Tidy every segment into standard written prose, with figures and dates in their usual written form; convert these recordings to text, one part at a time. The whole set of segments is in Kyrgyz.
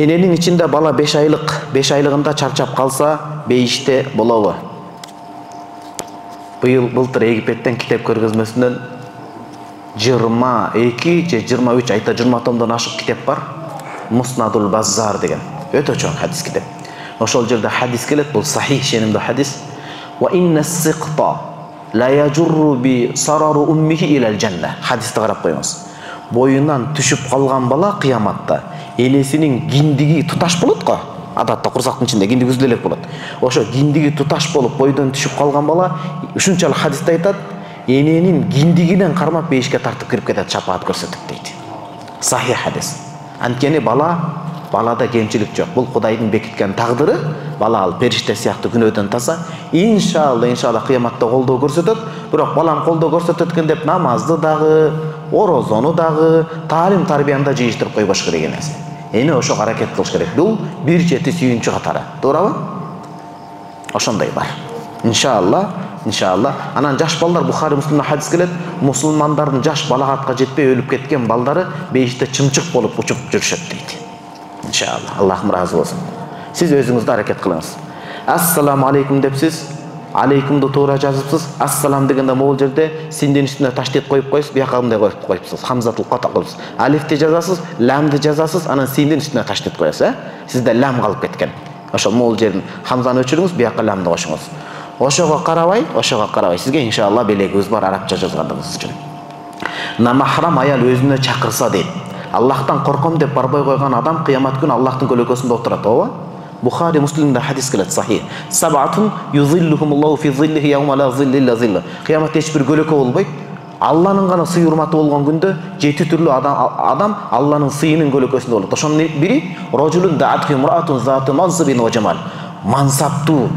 Эненин ичинде бала 5 айлык, 5 айлыгында чарчап калса, бейиште болобу? Былтыр Египеттен китеп көргөзмөсүнөн 22 же 23 айта 20 томдон ашык китеп бар. Муснадул Баззар деген. Өтө чоң хадис китеп. Ошол жерде хадис келет, бул сахих шенемдүү хадис. Wa inna as-siqta la yajurru bi sararu ummihi ila al-janna. Хадисти карап коюңуз. Боюнан түшүп калган бала кыяматта энесинин киндиги туташ болот го. Адатта курсактын ичинде киндиги үзүлө элек болот. Ошо киндиги туташ болуп бойдон түшүп калган бала ушунчалык хадисте айтат, эненин киндигинен кармап бейишке тартып кирип кетет, шапаат көрсөтөт дейт. Сахих хадис. Анткени балада кемчилик жок. Бул Кудайдын бекиткен тагдыры. Бала ал периште сыяктуу күнөөдөн таза. Иншалла кыяматта колдоо көрсөтөт. Бирок балам колдоо көрсөтөт экен деп намазды дагы, орозону дагы, таалим тарбияны да жыйыштырып койбош керек эмес. Эне ошого аракет кылыш керек. Бул бир чети сүйүнчү катары. Туурабы? Ошондой бар. Иншалла. Анан жаш балдар Бухари Муслимде хадис келет, мусулмандардын жаш балагатка жетпей өлүп кеткен балдары бейиште чымчык болуп учуп жүрүшөт дейт. Иншалла. Аллахым разы болсун. Сиз өзүңүздө аракет кылыңыз. Ассаламу алейкум депсиз, алейкумду туура жазыпсыз. Ассалам дегенде могул жерде синдин үстүнө таштет коюп койсуз, бияка мындай коюп коюпсуз. Хамзатул ката кылыпсыз. Алифти жазасыз, ламды жазасыз, анан синдин үстүнө таштет коесуз, Сизде лам калып кеткен. Ошол могул жерин хамзаны өчүрүңүз, бияка ламды кошуңуз. Ошого карабай, сизге иншалла белегибиз бар арабча жазгандыгыңыз үчүн. Намахрам аял өзүнө чакырса дейт. Аллахтан корком деп барбай койгон адам кыямат күнү Аллахтын көлөкөсүндө отурат, ооба? Бухари Муслимде хадис келет сахих. Саб'атун юзиллухумуллаху фи зиллихи яума ла зилла илля зилла. Кыяматта эч бир көлөкө болбойт. Алланын гана сый урматы болгон күндө 7 түрлүү адам Алланын сыйынын көлөкөсүндө болот. Ошонун бири рожулун даатхи муратун зату мансабин ва жамал. Мансаптуу,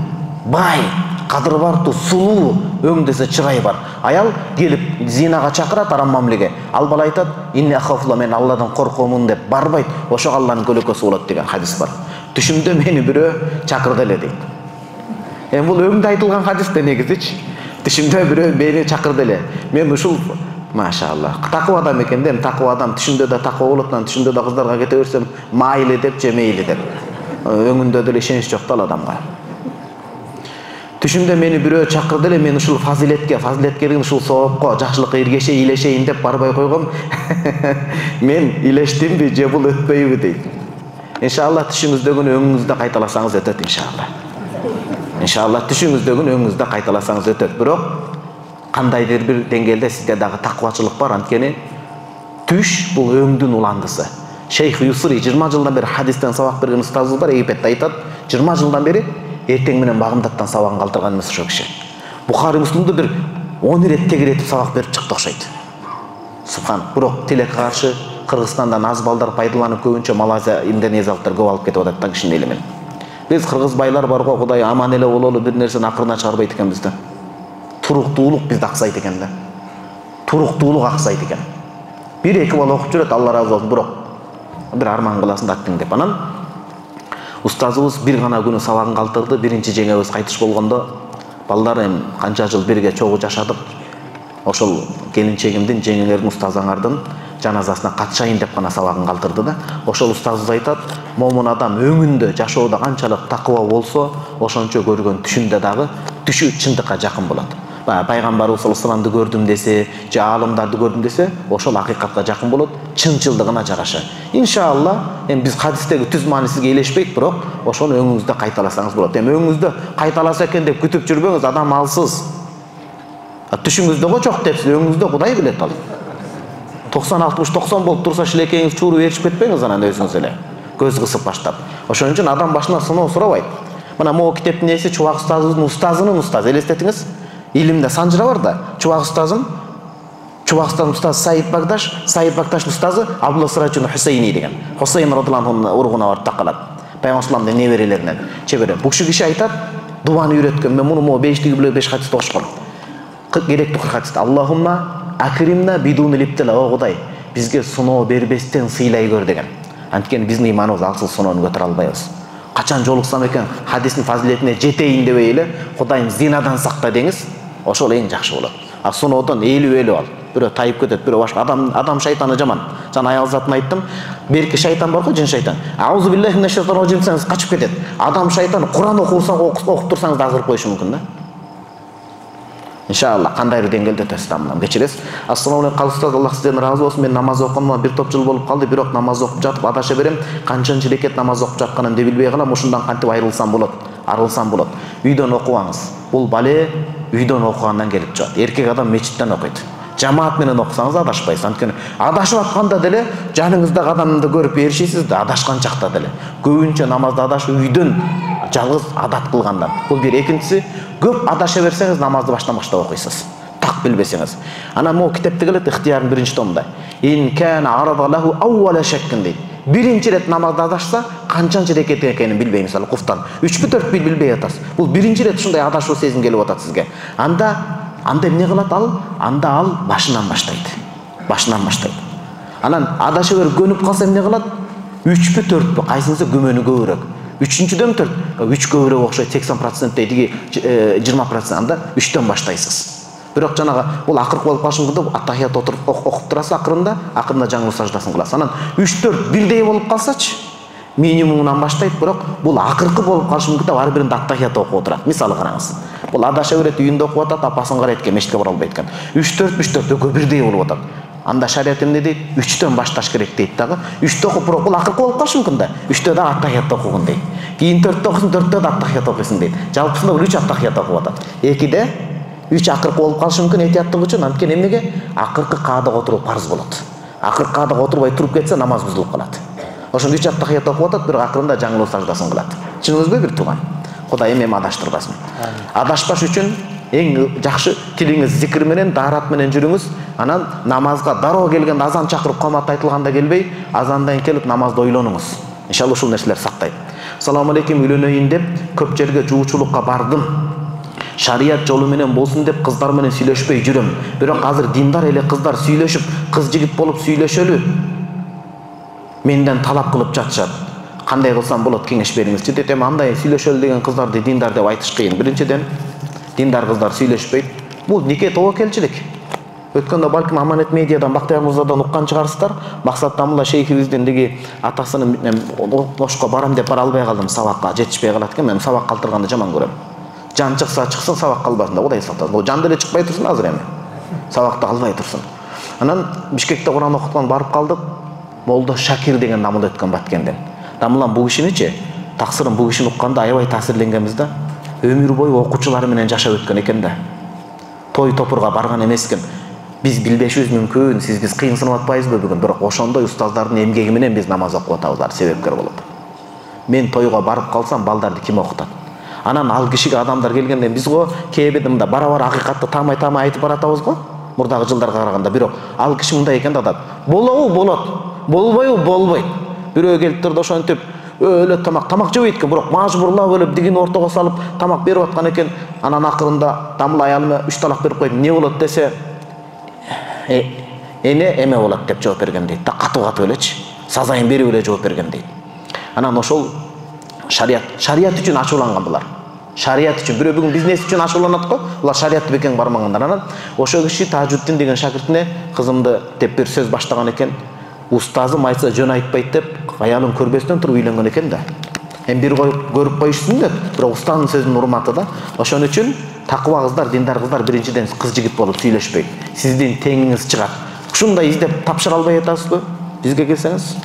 бай, кадыр бартуу, сулуу, өңдөсө чырай бар. Аял келип зинага чакырат арам мамилеге. Ал бала айтат, инни ахафулла, мен Алладан коркомун деп барбайт. Ошо Алланын көлөкөсү болот деген хадис бар. Түшүмдө мени бирөө чакырды эле дейт. Бул өңдө айтылган хадисте негизичи. Түшүмдө бирөө мени чакырды эле. Мен ушул машалла такыва адам экен да, такыва адам түшүмдө да такыва болот, түшүмдө да кыздарга кете берсем майли деп же мейли деп. Өңүндө деле ишенич жок да адамга. Түшүмдө мени бирөө чакырды эле, мен ушул фазилеткердин ушул соопко, жакшылыкка иргешейин, илешейин деп барбай койгом. Мен илештимби же бул өтпөйбү дейт. Иншалла түшүңүздөгүн өңүңүздө кайталасаңыз өтөт иншалла. Иншалла түшүңүздөгүн өңүңүздө кайталасаңыз өтөт. Бирок кандайдыр бир деңгээлде сизде дагы таквачылык бар, анткени түш бул өңдүн уландысы. Шейх Юсри 20 жылдан бери хадистен сабак берген устазыбыз бар, Египетте айтат, 20 жылдан бери эртең менен багымдаттан сабагын калтырган эмес ошол киши. Бухари Муслимде бир 10 ирет тегеретип сабак берип чыкты окшойт. Субхан. Бирок тилекке каршы Кыргызстандан аз балдар пайдаланып, көбүнчө Малайзия, Индонезиялыктар көп алып кетип атат да кишинин элемен. Биз кыргыз байлар бар го, Кудай аман эле бололу, бир нерсени акырына чыгарбайт экенбиз да. Туруктуулук бизде аксайт экен да. Туруктуулук аксайт экен. 1-2 бала окуп жүрөт, Алла разы болсун, бирок бир арман кыласың да аттың деп. Анан устазыбыз бир гана күнү сабагын калтырды. Биринчи жеңебиз кайтыш болгондо, балдар канча жыл бирге чогуу жашадык. Ошол келинчегимдин, жеңеңердин, устазыңардын жаназасына катышайын деп гана сабагын калтырды да. Ошол устазыбыз айтат, момун адам өңүндө жашоодо канчалык такыва болсо, ошончо көргөн түшүндө дагы түшү чындыкка жакын болот. Пайгамбарыбыз саллаллаху алейхи вассаламды көрдүм десе, же аалымдарды көрдүм десе, ошол акыйкатка жакын болот, чынчылдыгына жараша. Иншалла, биз хадистеги түз маани сизге элешпейт, бирок ошону өңүңүздө кайталасаңыз болот. Өңүңүздө кайталаса экен деп күтүп жүрбөңүз, адам алсыз. Түшүңүздө го жок депсиз, өңүңүздө Кудай билет ал. 90-60-90 болуп турса шилекеңиз чууру беришип кетпеңиз анан өзүңүз эле. Көз кысып баштап. Ошон үчүн адам башына сыноо сурабайт. Мына могу китептин ээси Чубак устазыбыздын устазынын устазы, элестетиңиз. Илимде санжыра бар да. Чубак устазым устазы Саид Багдаш устазы Абдулла Сыраджун Хусейни деген. Хусейн радыйаллаху анхунун уругуна барып такалат. Пайгамбарымыздын неберелеринен. Чебере. Бул киши айтат, дуаны үйрөткөн. Мен муну могу 5 хадисти окушкам. Керектүү хадис. Аллахумма акримна бидун липтила, о Кудай, бизге сыноо бербестен сыйлай көр деген. Анткени биздин ыйманыбыз аксыл сыноону көтөрө албайбыз. Качан жолуксам экен хадистин фазилетине жетейин дебей эле, Кудайым зинадан сакта деңиз, ошол эң жакшы болот. А сыноодон ээлип ал. Бирөө тайып кетет, бирөө башка адам шайтаны жаман. жана аял затын айттым. Берки шайтан бар го, жин шайтан. Аузу биллахи минаш шайтанир раджим десеңиз качып кетет. Адам шайтан Кур'ан окуп турсаңыз да азыр коюшу мүмкүн да. Иншалла кандайдыр деңгээлде тестамдан кечиресиз. Ассаламу алейкум калыстар, Аллах сизден разы болсун. Мен намаз окумам, бир топ жыл болуп калды, бирок намаз окуп жатып адаша берем. Канчанчы рекет намаз окуп жатканымды билбей калам. Ушундан кантип айрылсам болот? Арылсам болот. Үйдөн окубаңыз. Бул бале үйдөн окугандан келип чыгат. Эркек адам мечиттен окуйт. Жамаат менен окусаңыз адашпайсыз. Анткени адашып атканда деле жаныңыздагы адамды көрүп ээришесиз да, адашкан чакта деле. Көбүнчө намазды адашып үйдөн жалгыз адат кылгандан. Бул бир. Экинчиси, көп адаша берсеңиз намазды баштан баштап окуйсуз. Так билбесеңиз. Анан могу китепте келет ихтиярдын биринчи томунда. Ин кана арада лаху аввала шаккин дейт. Биринчи рет намазды адашса, канчанчы рекет экенин билбей, мисалы куфтан 3-4 билбей атасыз. Бул биринчи рет ушундай адашуу сезим келип атат сизге. Анда эмне кылат ал? Анда ал башынан баштайт. Башынан баштайт. Анан адаша берип көнүп калса эмне кылат? 3-4 кайсынысы күмөнү көбүрөөк. 3-дөн 4, 3 көбүрөөк окшойт 80% дейдиги 20%. Анда 3төн баштайсыз. Бирок жанагы бул акыркы болуп калышы мүмкүн да, аттахият отуруп окуп турасыз, акырында жаңы саждасын кыласыз. Анан 3-4 бирдей болуп калсачы, минимумунан баштайт, бирок бул акыркы болуп калышы мүмкүн да, ар биринде аттахият окуп отурат. Мисалы караңыз. Бул адаша берет, үйүндө окуп атат, апасын карайт экен, мешитке бара албайт экен. 3-4 экөө бирдей болуп атат. Анда шарият эмне дейт? 3төн башташ керек дейт дагы. 3тө окуп, бирок бул акыркы болуп калышы мүмкүн да. 3тө да аттахият окугун дейт. Кийин 4тө окусун, 4тө да аттахият окуйсун дейт. Жалпысында бул 3 аттахият окуп атат. 2де 3 акыркы болуп калышы мүмкүн этияттык үчүн. Анткени эмнеге? Акыркы каадага отуруу парз болот. Акыркы каадага отурбай туруп кетсе намаз бузулуп калат. Ошондо 3 аттахият окуп атат, бирок акырында жаңылуу саждасын кылат. Чыныңызбы бир тууган? Кудай эми адаштырбасын. Адашпаш үчүн эң жакшы тилиңиз зикир менен, даарат менен жүрүңүз. Анан намазга дароо келгенде азан чакырып камат айтылганда келбей, азандан келип намазды ойлонуңуз. Иншалла ушул нерселер сактайт. Салам алейкум, үйлөнөйүн деп көп жерге жуучулукка бардым. Шарият жолу менен болсун деп кыздар менен сүйлөшпөй жүрөм. Бирок азыр диндар эле кыздар сүйлөшүп, кыз жигит болуп сүйлөшөлү менден талап кылып жатышат. Кандай кылсам болот, кеңеш бериңизчи дейт. Эми андай сүйлөшөлү деген кыздарды диндар деп айтыш кыйын. Биринчиден диндар кыздар сүйлөшпөйт. Бул нике тобокелчилик. Өткөндө балким Аманет медиадан Бактыяр мырзадан уккан чыгарсыздар. Максат Тамула шейхибиздин деги атасынын ошко барам деп бара албай калдым, сабакка жетишпей калат экен. Мен сабак калтырганды жаман көрөм. Жан чыкса чыксын, сабак калбасын да, Кудай сактасын. Ол жан деле чыкпай турсун азыр эми. Сабакта калбай турсун. Анан Бишкекте Кур'ан окуткан барып калдык. Молдо Шакир деген намыл өткөн Баткенден. Дамылан бул кишиничи, таксырын бул кишини укканда аябай таасирленгенбиз да. Өмүр бою окуучулары менен жашап өткөн экен да. Той топурга барган эмес экен. Биз билбешибиз мүмкүн, биз кыйынсынып атпайбызбы бүгүн, бирок ошондой устаздардын эмгеги менен биз намаз окуп атабыз, себепкер болуп. Мен тойго барып калсам балдарды ким окутат? Анан ал кишиге адамдар келгенде биз го кээбеде мында бара-бара акыйкатты таамай айтып баратабыз го, мурдагы жылдарга караганда. Бирок ал киши мындай экен да, атат. Болобу? Болот. Болбойбу? Болбойт. Бирөө келип турду ошентип өлө тамак жебейт экен, бирок мажбурлап өлүп дигин ортого салып тамак берип аткан экен. Анан акырында Тамыл аялыма 3 талак берип коюп, эмне болот десе, эме болот деп жооп берген дейт. Катуу элечи. Сазайын берип эле жооп берген дейт. Анан ошол шарият үчүн ачууланган булар. Шарият үчүн, бирөө бүгүн бизнес үчүн ачууланат го, булар шариятты бекем бармагандар. Анан ошол киши Тажуддин деген шакиртине кызымды деп бир сөз баштаган экен. Устазым айтса жөн айтпайт деп, аялын көрбөстөн туруп үйлөнгөн экен да. Эми бир көрүп коюшсун деп, бирок устаздын сөзүнүн урматы да. Ошон үчүн такыба кыздар, диндар кыздар биринчиден кыз жигит болуп сүйлөшпөйт. Сиздин теңиңиз чыгат. Ушундай издеп тапшыра албай атасызбы? Бизге келсеңиз.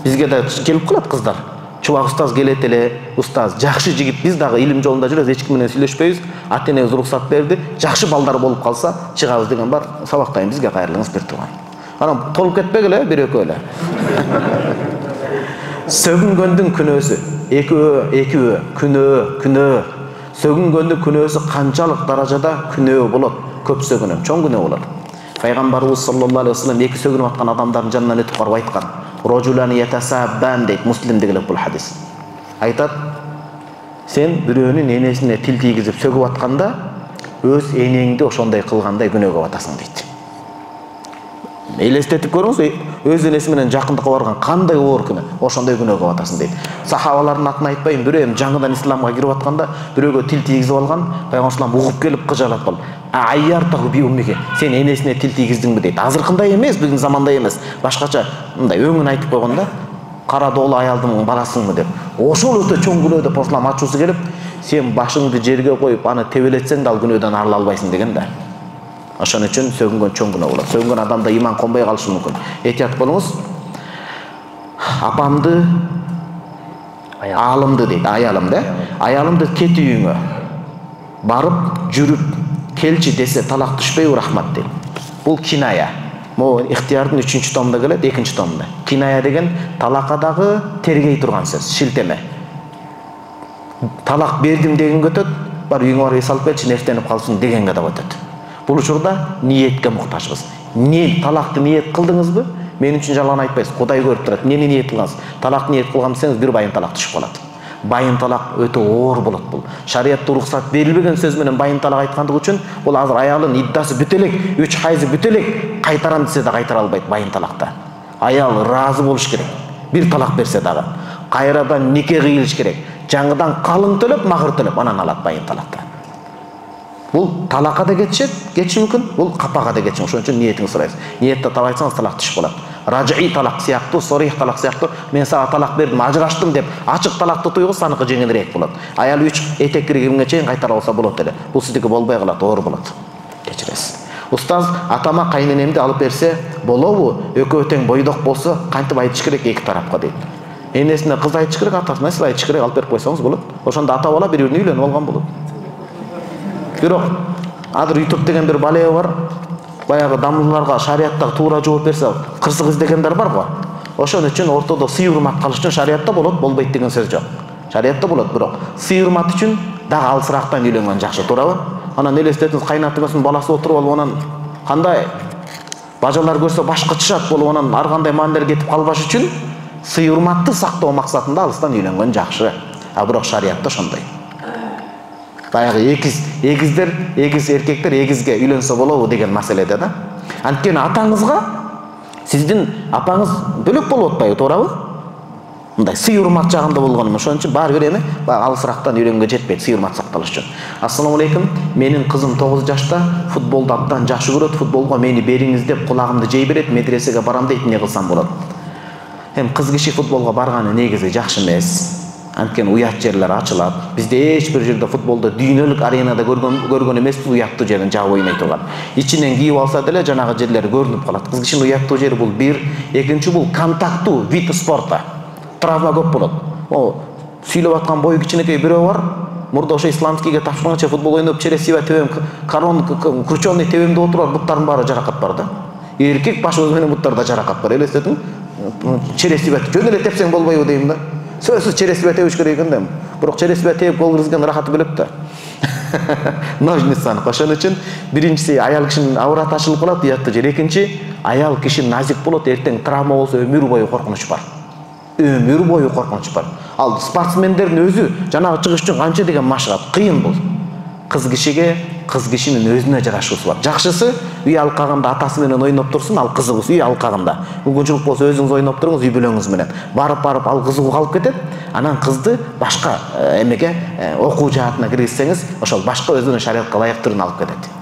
Бизге да келип калат кыздар. Чубак устаз келет эле, устаз жакшы жигит, биз дагы илим жолунда жүрөбүз, эч ким менен сүйлөшпөйбүз. Ата-энебиз уруксат берди, жакшы балдар болуп калса, чыгабыз деген бар. Сабактайын бизге кайрылыңыз бир турган. Анан толуп кетпегиле, бир экөө эле. Сөгүнгөндүн күнөөсү, экөө, күнөө. Сөгүнгөндүн күнөөсү канчалык даражада күнөө болот? Көп сөгүнөм, чоң күнөө болот. Пайгамбарыбыз саллаллаху алейхи вассалам эки сөгүнүп аткан адамдардын жанынан өтүп барып айткан. Рожулани ятасаббан дейт, Муслимде келет бул хадис. Айтат, сен бирөөнүн энесине тил тийгизип сөгүп атканда, өз энеңди ошондой кылгандай күнөөгө батасың дейт. Элестетип көрүңүз, өз энеси менен жакындыкка барган кандай оор күнөө, ошондой күнөөгө батасың дейт. Сахабалардын атын айтпайм, бирөө эми жаңыдан исламга кирип атканда бирөөгө тил тийгизип алган, пайгамбар салам угуп келип кыжалат калды. айяр тагы би уммиге. Сен энесине тил тийгиздиңби дейт. Азыркындай эмес, биздин замандай эмес. Башкача мындай өңүн айтып койгонда, кара доолу аялдын баласыңбы деп. Ошол өтө чоң күнөө деп Ислам ачуусу келип, сен башыңды жерге коюп, аны тебелетсең да ал күнөөдөн арыла албайсың деген да. Ошон үчүн сөгүнгөн чоң күнөө болот. Сөгүнгөн адамда иман конбой калышы мүмкүн. Этият болуңуз. Апамды аялымды дейт, аялымды, аялымды кет үйүңө барып жүрүп келчи десе талак түшпөйбү рахмат дейт. Бул киная. Могу ихтиярдын 3-чү томунда келет, 2-чү томунда. Киная деген талакадагы тергей турган сөз, шилтеме. Талак бердим дегенге өтөт, бар үйүңө барып салып келчи, нефтенип калсын дегенге да өтөт. Бул учурда ниетке муктажбыз. Талакты ниет кылдыңызбы? Мен үчүн жалган айтпайсыз. Кудай көрүп турат. Эмнени ниет кылгансыз? Талак ниет кылган десеңиз, бир байын талак түшүп калат. Байын талак өтө оор болот бул. Шариятта уруксат берилбеген сөз менен байын талак айткандыгы үчүн бул азыр аялын иддасы бүтө элек, 3 хайзы бүтө элек, кайтарам десе да кайтара албайт байын талакта. Аял ыраазы болуш керек. Бир талак берсе дагы. Кайрадан нике кыйылыш керек. Жаңыдан калың төлөп, махыр төлөп анан алат байын талакта. Бул талакка да кетиши мүмкүн, бул капага да кетиши мүмкүн. Ошон үчүн ниетиңди сурайсыз. Ниетте талак айтсаңыз талак түшүп калат. Раджи талак сыяктуу, сорих талак сыяктуу, мен сага талак бердим, ажыраштым деп ачык талакты туйгуз аныкы жеңилирээк болот. Аял 3 этек киргенге чейин кайтара алса болот эле. Бул сиздики болбой калат, оор болот. Кечиресиз. Устаз атама кайненемди алып берсе болобу? Экөө тең бойдок болсо кантип айтыш керек эки тарапка дейт. Энесине кыз айтыш керек, атасына сиз айтыш керек, алып берип койсоңуз болот. Ошондо ата бала бири-бирине үйлөнүп алган болот. Бирок азыр YouTube деген бир балея бар. Баягы дамылларга шариаттагы туура жооп берсе, кырсык издегендер бар го. Ошон үчүн ортодо сый урмат калыш үчүн шариятта болот, болбойт деген сөз жок. Шариятта болот, бирок сый урмат үчүн дагы алысырактан үйлөнгөн жакшы, туурабы? Анан элестетиңиз, кайнатыңыздын баласы отуруп алып, анан кандай бажалар көрсө баш кычышат болуп, анан ар кандай маанилер кетип калбаш үчүн сый урматты сактоо максатында алыстан үйлөнгөн жакшы. А бирок шариятта ошондой. Баягы эгиз эркектер эгизге үйлөнсө болобу деген маселеде да. Анткени атаңызга сиздин апаңыз бөлөк болуп атпайбы, туурабы? Мындай сый урмат жагында болгону, ошон үчүн баары бир эми алысырактан үйлөнгөнгө жетпейт сый урмат сакталыш үчүн. Ассаламу алейкум. Менин кызым 9 жашта, футболду абдан жакшы көрөт. Футболго мени бериңиз деп кулагымды жей берет, медресеге барам дейт, эмне кылсам болот? Эми кыз киши футболго барганы негизи жакшы эмес. Анткени уят жерлер ачылат. Бизде эч бир жерде футболду дүйнөлүк аренада көргөн эмеспиз, уяттуу жерин жаап ойной турган. Ичинен кийип алса деле жанагы жерлери көрүнүп калат. Кыз кишинин уяттуу жери бул бир, экинчи бул контакттуу вид спорта. Травма көп болот. Сүйлөп аткан бою кичинекей бирөө бар. Мурда ошо исламскийге тапшырганча футбол ойноп, чересива тебем, кручёный тебемде отуруп, буттардын баары жаракат бар да. Эркек башыбыз менен буттарда жаракат бар. Элестетиң? Чересива жөн эле тепсең болбойбу дейм да. Сөзсүз чересива тебиш керек экен да. Бирок чересива тебип гол киргизген рахаты бөлөк да. Ножницаны. Ошон үчүн биринчиси аял кишинин авраты ачылып калат, уяттуу жер. Экинчи аял киши назик болот, эртең травма болсо өмүр бою коркунуч бар. Өмүр бою коркунуч бар. Ал спортсмендердин өзү жанагы чыгыш үчүн канча деген машыгат, кыйын бул. Кыз кишинин өзүнө жарашуусу бар. Жакшысы үй алкагында атасы менен ойноп турсун, ал кызыгып үй алкагында. Мүмкүнчүлүк болсо өзүңүз ойноп туруңуз үй бүлөңүз менен. Барып ал кызыгуу калып кетет. Анан кызды башка эмеге окуу жаатына киргизсеңиз, ошол башка өзүнүн шариятка ылайык түрүн алып кетет.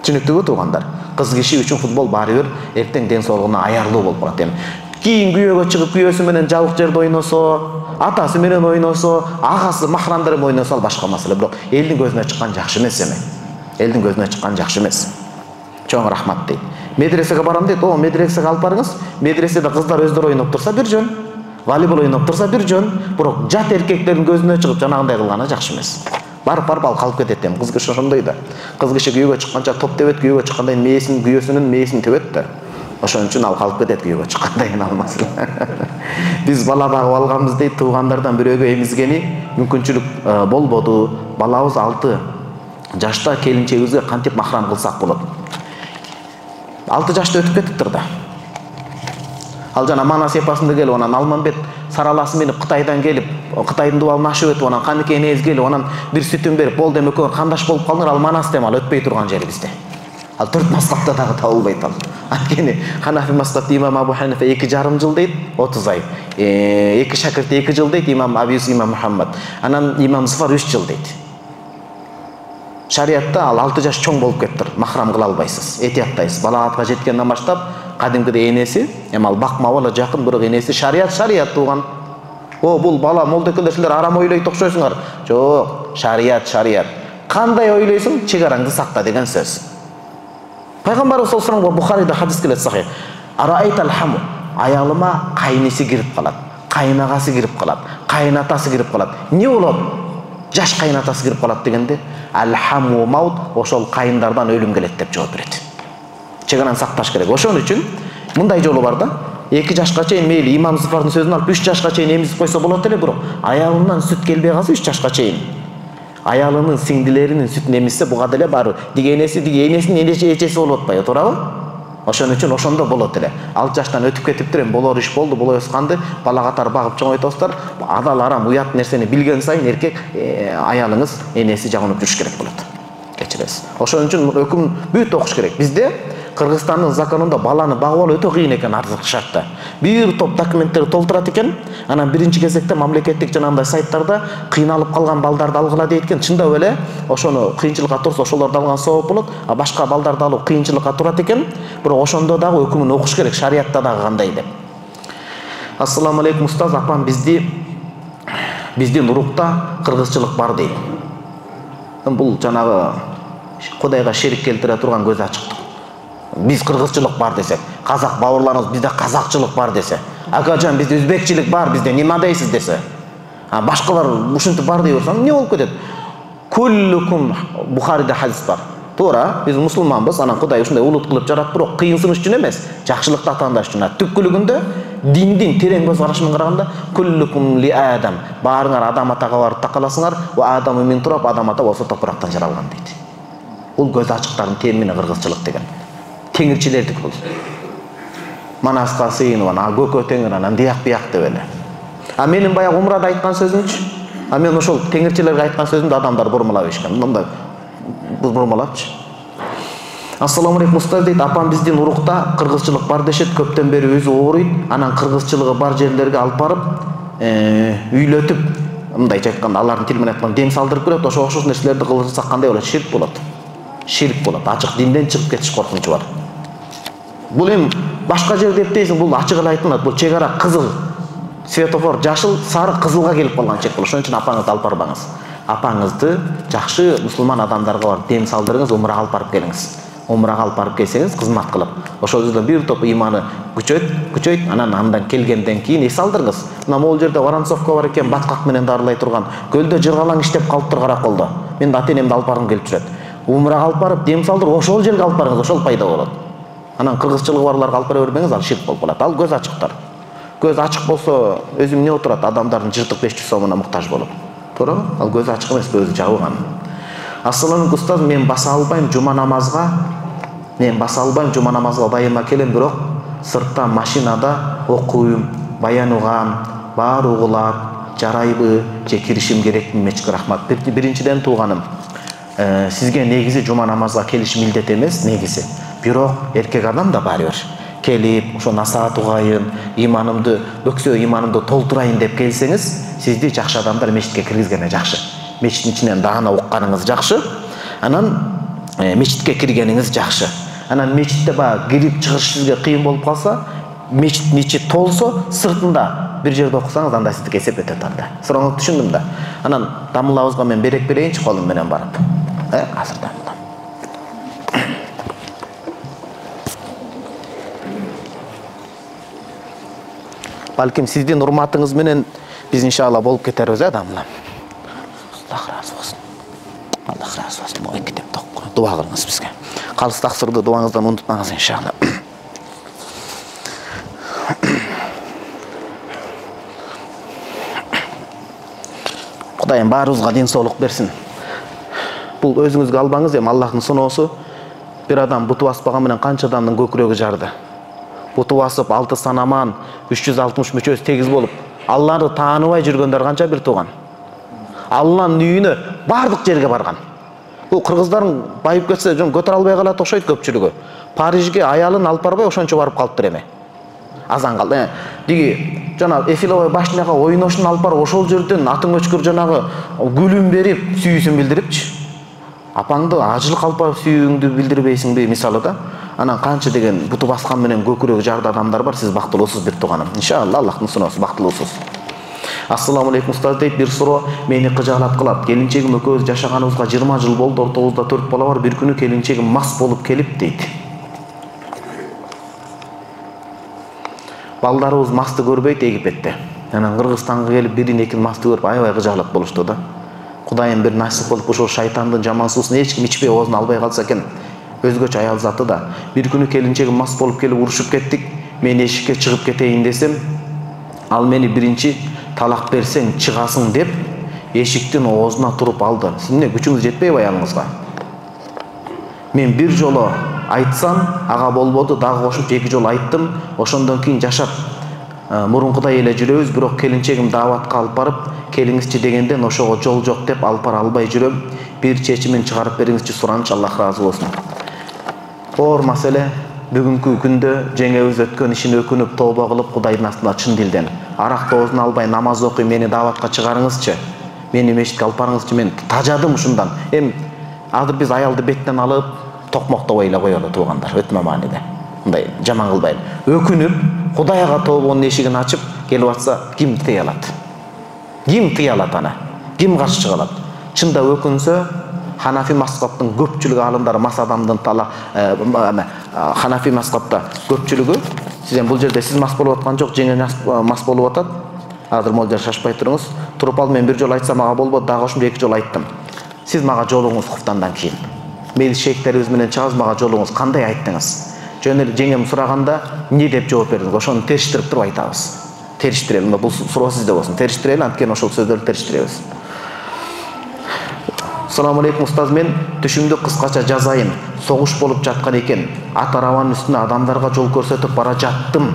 Түшүнүктүүбү туугандар? Кыз киши үчүн футбол баары бир эртең ден соолугуна аярлуу болуп калат эми. Кийин күйөөгө чыгып, күйөөсү менен жабык жерде ойносо, атасы менен ойносо, агасы, махрамдары менен ойносо ал башка маселе. Бирок элдин көзүнө чыккан жакшы эмес эми. Элдин көзүнө чыккан жакшы эмес. Чоң рахмат дейт. Медресеге барам дейт. Медресеге алып барыңыз. Медреседе кыздар өздөрү ойноп турса бир жөн, волейбол ойноп турса бир жөн. Бирок жат эркектердин көзүнө чыгып жанагындай кылганы жакшы эмес. Барып ал калып кетет эми. Кыз киши ошондой да. Кыз киши күйөөгө чыкканча топ тебет, күйөөгө чыкканда күйөөсүнүн мээсин тебет да. Ошон үчүн ал калып кетет күйөөгө чыккандай алмас. Биз бала багып алганбыз дейт, туугандардан бирөөгө эмизгени мүмкүнчүлүк болбоду. Балабыз 6 жашта келинчегибизге кантип махрам кылсак болот? 6 жашта өтүп кетиптир да. Ал жана манас эпасында келип, анан Алмамбет сараласы менен Кытайдан келип, Кытайдын дубалын ашып өтүп, анан каныкей энеңиз келип, анан бир сүтүн берип, болду эми экөө кандаш болуп калдыңар, ал манас дем, ал өтпөй турган жери бизде. Ал 4 мазхабта дагы табылбайт ал. Анткени Ханафи мазхабы имам Абу Ханифа 2,5 жыл дейт, 30 ай. Эки шакирти 2 жыл дейт, имам Абу Юсуф имам Мухаммад. Анан имам Зуфар 3 жыл дейт. Шариатта ал 6 жаш чоң болуп кетиптир. Махрам кыла албайсыз. Этияттайсыз. Балагатка жеткенден баштап кадимкидей энеси, эми ал бакмак бала жакын, бирок энеси шарият тууган. Бул бала молдекелер силер арам ойлойт окшойсуңар. Жок, шарият. Кандай ойлойсуң, чегараңды сакта деген сөз. Пайгамбарыбыз саллаллаху алейхи ва саллям Бухарида хадис келет сахih. Араайтал хаму, аялыма кайниси кирип калат, кайнагасы кирип калат, кайнатасы кирип калат. Не болот? Жаш кайнатасы кирип калат дегенде, алхаму маут, ошол кайындардан өлүм келет деп жооп берет. Чегараны сакташ керек. Ошон үчүн мындай жолу бар да. 2 жашка чейин мейли имам Зуфардын сөзүн алып 3 жашка чейин эмизип койсо болот эле, бирок аялынан сүт келбей калса 3 жашка чейин аялынын сиңдилеринин сүтүн эмизсе буга деле бар. Диги энесинин эчеси болуп атпайбы, туурабы? Ошон үчүн ошондо болот эле. 6 жаштан өтүп кетиптир, эми болор иш болду, боло өсканды бала катары багып чоңойтосуздар. Адал арам уят нерсени билген сайын эркек аялыңыз энеси жагынып жүрүш керек болот. Кечиресиз. Ошон үчүн өкүм бүт окуш керек. Бизде Кыргызстандын законунда баланы багып алуу өтө кыйын экен арзык шартта. Бир топ документтерди толтурат экен. Анан биринчи кезекте мамлекеттик жанагындай сайттарда кыйналып калган балдарды алгыла дейт экен. Чындап эле ошону кыйынчылыкка турса ошолорду алган сооп болот, а башка балдарды алуу кыйынчылыкка турат экен. Бирок ошондо дагы өкүмүн окуш керек, шариатта дагы кандай деп. Ассаламу алейкум устаз, апам биздин урукта кыргызчылык бар дейт. Бул жанагы Кудайга шерик келтире турган көз ачыктык. Биз кыргызчылык бар десек, казак бауырларыбыз бизде казакчылык бар десе, акажан бизде өзбекчилик бар, бизде нема дейсиз десе, башкалар ушинтип бар дей берсең, эмне болуп кетет? Куллукум, Бухарида хадис бар. Туура, биз мусулманбыз, анан Кудай ушундай улут кылып жаратты, бирок кыйынсыныш үчүн эмес, жакшылыкты атаандаш үчүн. Түпкүлүгүндө диндин терең көз карашынан караганда, куллукум ли адам, баарыңар адам атага барып такаласыңар, ва адаму мин тураб, адам ата болсо топурактан жаралган дейт. Бул көз ачыктардын темини кыргызчылык деген. Теңирчилердик бул. Манаска сыйынып, көкө теңир, анан дияк-бияк деп эле. Менин баягы умрада айткан сөзүмчү, мен ошол теңирчилерге айткан сөзүмдү адамдар бурмалап ишкен. Мындай бурмалапчы. Ассаламу алейкум устаз дейт, апам биздин урукта кыргызчылык бар дешет, көптөн бери өзү ооруйт, анан кыргызчылыгы бар жерлерге алып барып, үйлөтүп, мындайча айтканда, алардын тили менен айтканда дем салдырып берет, ошо окшош нерселерди кылсак кандай болот? Ширк болот. Ширк болот. Ачык динден чыгып кетиш коркунучу бар. Бул эми башка жерде эптейсиң, бул ачык эле айтылат. Бул чек ара кызыл, светофор жашыл, сары, кызылга келип калган чек болот. Ошон үчүн апаңызды алып барбаңыз. Апаңызды жакшы мусулман адамдарга барып дем салдырыңыз, умрага алып барып келиңиз. Умрага алып барып келсеңиз, кызмат кылып. Ошол жерде бир топ иманы күчөйт, андан келгенден кийин эс алдырыңыз. Мына могул жерде Воронцовка бар экен, баткак менен дарылай турган. Көлдө жыргалаң иштеп калыптыр Караколдо. Мен ата-энемди алып баргым келип жүрөт. Умрага алып барып дем салдырып, ошол жерге алып барыңыз, ошол пайда болот. Анан кыргызчылыгы барларга алып бара бербеңиз, ал ширк болуп калат. Ал көз ачыктар. Көз ачык болсо, өзү эмне отурат? Адамдардын жыртык 500 сомуна муктаж болуп. Туурабы? Ал көз ачык эмес, көзү жабылган. Ассаламу алейкум устаз, мен баса албайм жума намазга байыма келем, бирок сыртта машинада окуйм, баян угам, баары угулат, жарайбы, же киришим керекми? Мечке рахмат. Биринчиден тууганым, сизге негизи жума намазга келиш милдет эмес, негизи. Бирок эркек адам да баары бир келип, ошо насаат угайын, бөксө иманымды толтурайын деп келсеңиз, сизди жакшы адамдар мечитке киргизгени жакшы. Мечиттин ичинен даана укканыңыз жакшы. Анан мечитке киргениңиз жакшы. Анан мечитте кирип чыгыш сизге кыйын болуп калса, мечиттин ичи толсо, сыртында бир жерде окусаңыз, анда сиздики эсеп өтөт анда. Сурооңузду түшүндүм да. Анан дамылабызга мен берек берейинчи колум менен барып. Азыр дамылам. Балким сиздин урматыңыз менен биз иншалла болуп кетербиз, дамылам. Аллах разы болсун. Аллах разы болсун. Могу китепти окуп, дуа кылыңыз бизге. Калыс таксырды дуаңыздан унутпаңыз иншалла. Кудайым баарыбызга ден соолук берсин. Бул өзүңүзгө албаңыз, эми Аллахтын сыноосу. Бир адам буту баспаган менен канча адамдын көкүрөгү жарды. Буту басып 6 санаман 360 мүчөсү тегиз болуп, Алланы тааныбай жүргөндөр канча бир тууган. Алланын үйүнө бардык жерге барган. Бул кыргыздардын байып кетсе, көтөрө албай калат окшойт көпчүлүгү. Парижге аялын алып барбай ошончо барып калыптыр эми. Азан калды. Диги жана Эфиловой башняга ойношун алып барып ошол жерден атын өчкүр жанагы гүлүн берип, сүйүүсүн билдирипчи. Апаңды ажылык алып барып сүйүүңдү билдирбейсиңби мисалы да. Анан канча деген буту баскан менен көкүрөгү жарды адамдар бар. Сиз бактылуусуз бир тууганым. Иншалла Аллахтын суноосу бактылуусуз. Ассаламу алейкум устаз дейт, бир суроо мени кыжаалап кылат. Келинчегим экөөбүз жашаганыбызга 20 жыл болду. Ортобузда 4 бала бар. Бир күнү келинчегим мас болуп келип дейт. Балдарыбыз масты көрбөйт Египетте. Анан Кыргызстанга келип бирин экин масты көрүп аябай кыжаалап болушту да. Кудайым бир насип кылып ушул шайтандын жаман суусун эч ким ичпей оозуна албай калса экен. Өзгөчө аял заты да. Бир күнү келинчегим мас болуп келип урушуп кеттик. Мен эшикке чыгып кетейин десем, ал мени биринчи талак берсең чыгасың деп эшиктин оозуна туруп алды. Сиз эмне күчүңүз жетпейби аялыңызга? Мен бир жолу айтсам, ага болбоду, дагы кошуп 2 жолу айттым. Ошондон кийин жашап мурункудай эле жүрөбүз, бирок келинчегим дааватка алып барып, келиңизчи дегенден ошого жол жок деп алып бара албай жүрөм. Бир чечимин чыгарып бериңизчи, сураныч, Аллах ыраазы болсун. Оор маселе. Бүгүнкү күндө жеңебиз өткөн ишин өкүнүп, тооба кылып, Кудайдын астында чын дилден аракты оозуна албай намаз окуй, мени дааватка чыгарыңызчы. Мени мешитке алып барыңызчы, мен тажадым ушундан. Азыр биз аялды беттен алып, токмоктобой эле коелу туугандар, өтмө мааниде. Мындай жаман кылбайлы. Өкүнүп, Кудайга тообонун эшигин ачып келип атса, ким тыя алат? Ким тыя алат аны? Ким каршы чыга алат? Чында өкүнсө, Ханафи мазхабтын көпчүлүгү алымдары мас адамдын Ханафи мазхабта көпчүлүгү, сиз бул жерде сиз мас болуп аткан жок, жеңе мас болуп атат. Азыр могул жер шашпай туруңуз. Туруп ал мен бир жолу айтсам ага болбоду, дагы ошондой 2 жолу айттым. Сиз мага жолуңуз хуфтандан кийин. Мейли шейхтерибиз менен чыгабыз, мага жолуңуз кандай айттыңыз? Жөн эле жеңем сураганда эмне деп жооп бердиңиз? Ошону териштирип туруп айтабыз. Териштирели, бул суроо сизде болсун. Териштирели, анткени ошол сөздөрдү териштиребиз. Ассаламу алейкум устаз, мен түшүмдү кыскача жазайын. Согуш болуп жаткан экен. Ат арабанын үстүнө адамдарга жол көрсөтүп бара жаттым.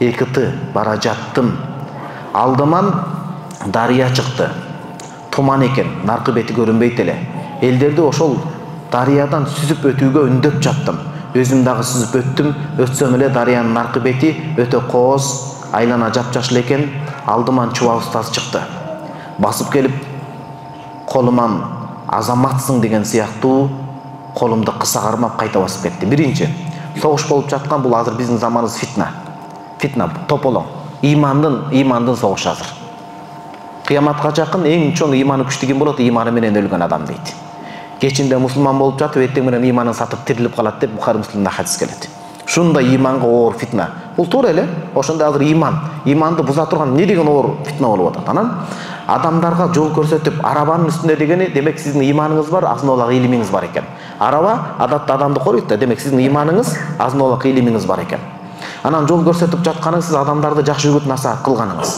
2 бара жаттым. Алдыман дарыя чыкты. Туман экен, наркы бети көрүнбөйт эле. Элдерди ошол дарыядан сүзүп өтүүгө үндөп жаттым. Өзүм дагы сүзүп өттүм. Өтсөм эле дарыянын наркы бети өтө кооз, айлана жапжашыл экен. Алдыман чуба устаз чыкты. Басып келип колуман азаматсың деген сыяктуу колумду кыса кармап кайта басып кетти. Биринчи, согуш болуп жаткан, бул азыр биздин заманыбыз фитна. Фитна тополоң. Имандын согушу азыр. Кыяматка жакын эң чоң иманы күчтүү ким болот? Иманы менен өлгөн адам дейт. Кечинде мусулман болуп жатып, эртең менен иманын сатып тирилип калат деп Бухари Муслимде хадис келет. Шундай иманга оор фитна. Бул туура эле. Ошондой азыр иманды буза турган эмне деген оор фитна болуп атат. Анан адамдарга жол көрсөтүп, арабанын үстүндө дегени, демек сиздин иманыңыз бар, азын-аулак илимиңиз бар экен. Араба адатта адамды коруйт да, демек сиздин иманыңыз, азын-аулак илимиңиз бар экен. Анан жол көрсөтүп жатканыңыз, сиз адамдарды жакшы үгүт насаат кылганыңыз.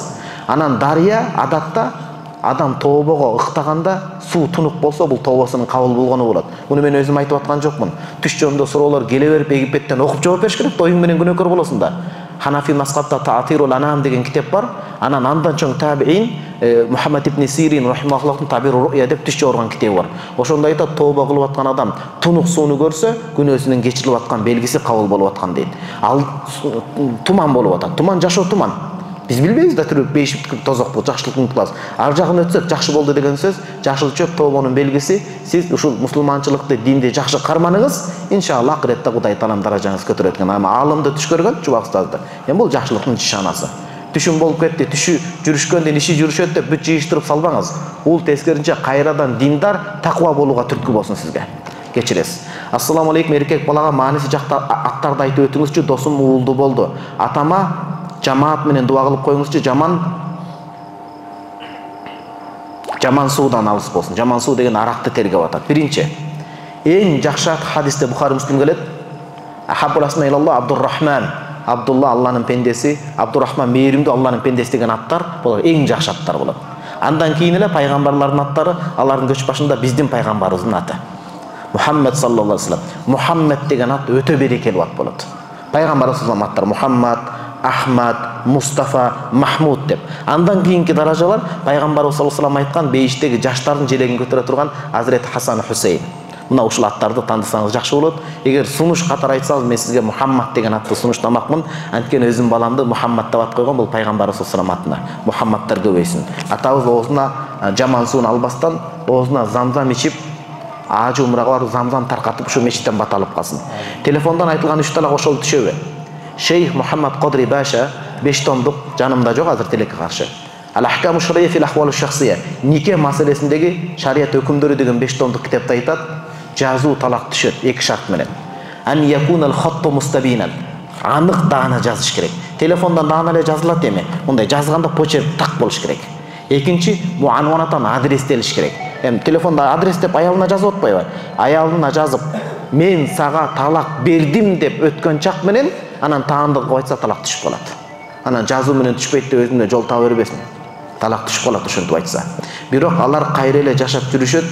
Анан дарыя адатта адам тообого ыктаганда суу тунук болсо, бул тообосунун кабыл болгону болот. Муну мен өзүм айтып аткан жокмун. Түш жөнүндө суроолор келе берип Египеттен окуп жооп бериш керек, оюң менен күнөөкөр болосуң да. Ханафи мазхабта Таатирул Анам деген китеп бар. Анан андан чоң табиин Мухаммад ибн Сирин рахимахуллахтын Табиру Ру'я деп түш жоргон китеби бар. Ошондо айтат, тооба кылып аткан адам тунук сууну көрсө, күнөөсүнүн кечирилип аткан белгиси кабыл болуп аткан дейт. Ал туман болуп атат. Туман жашоо туман. Биз билбейбиз да түрүп бейшиптик тозокпу, жакшылыктын кылабыз. Ар жагын өтсөк жакшы болду деген сөз, жашыл чөп тообонун белгиси. Сиз ушул мусулманчылыкты, динди жакшы карманыңыз, иншалла акыретте Кудай таалам даражаңызды көтөрөт экен. Ама алымды түш көргөн чуба устазды. Бул жакшылыктын нишанасы. Түшүм болуп кетти, түшү жүрүшкөндөн иши жүрүшөт деп бүт жыйыштырып салбаңыз. Бул тескеринче кайрадан диндар, таква болууга түрткү болсун сизге. Кечиресиз. Ассаламу алейкум, эркек балага мааниси жакта аттарды айтып өтүңүзчү, досум уулду болду. Атама жамаат менен дуа кылып коюңузчу, жаман суудан алыс болсун. Жаман суу деген аракты тергеп атат. Биринчи, эң жакшы хадисте Бухари Муслим келет. Ахаббул асма илаллах Абдуррахман. Абдулла Алланын пендеси, Абдуррахман мээримдүү Алланын пендеси деген аттар болот, эң жакшы аттар болот. Андан кийин эле пайгамбарлардын аттары, алардын көч башында биздин пайгамбарыбыздын аты. Мухаммад саллаллаху алейхи вассалам. Мухаммад деген ат өтө берекелүү ат болот. Пайгамбарыбыздын аттары Мухаммад, Ахмад, Мустафа, Махмуд деп. Андан кийинки даражалар пайгамбарыбыз саллаллаху алейхи вассалам айткан бейиштеги жаштардын желегин көтөрө турган Азирет Хасан Хусейн. Мына ушул аттарды тандысаңыз жакшы болот. Эгер сунуш катары айтсаңыз, мен сизге Мухаммад деген атты сунуштамакмын. Анткени өзүм баламды Мухаммад деп ат койгон, бул пайгамбарыбыз саллаллаху алейхи вассалам атына. Мухаммадтар көбөйсүн. Атабыз оозуна жаман сууну албастан, оозуна замзам ичип, ажы умрага барып замзам таркатып ушу мечиттен бат алып калсын. Телефондон айтылган 3 талак ошол түшөбү? Шейх Мухаммад Кодри Баша 5 томдук, жанымда жок азыр телекке каршы. Ал-Ахкаму Шария фил Ахвал Шахсия, нике маселесиндеги шарият өкүмдөрү деген 5 томдук китепте айтат, жазуу талак түшөт 2 шарт менен. Ан якунал хатту мустабинан. Анык даана жазыш керек. Телефондон даана эле жазылат эми. Мындай жазганда почерк так болуш керек. Экинчи, муанванатан адрестелиш керек. Эми телефонда адрес деп аялына жазып атпайбы? Аялына жазып, мен сага талак бердим деп өткөн чак менен анан таандыкка айтса талак түшүп калат. Анан жазуу менен түшпөйт деп өзүнө жол таба бербесин. Талак түшүп калат ошентип айтса. Бирок алар кайра эле жашап жүрүшөт,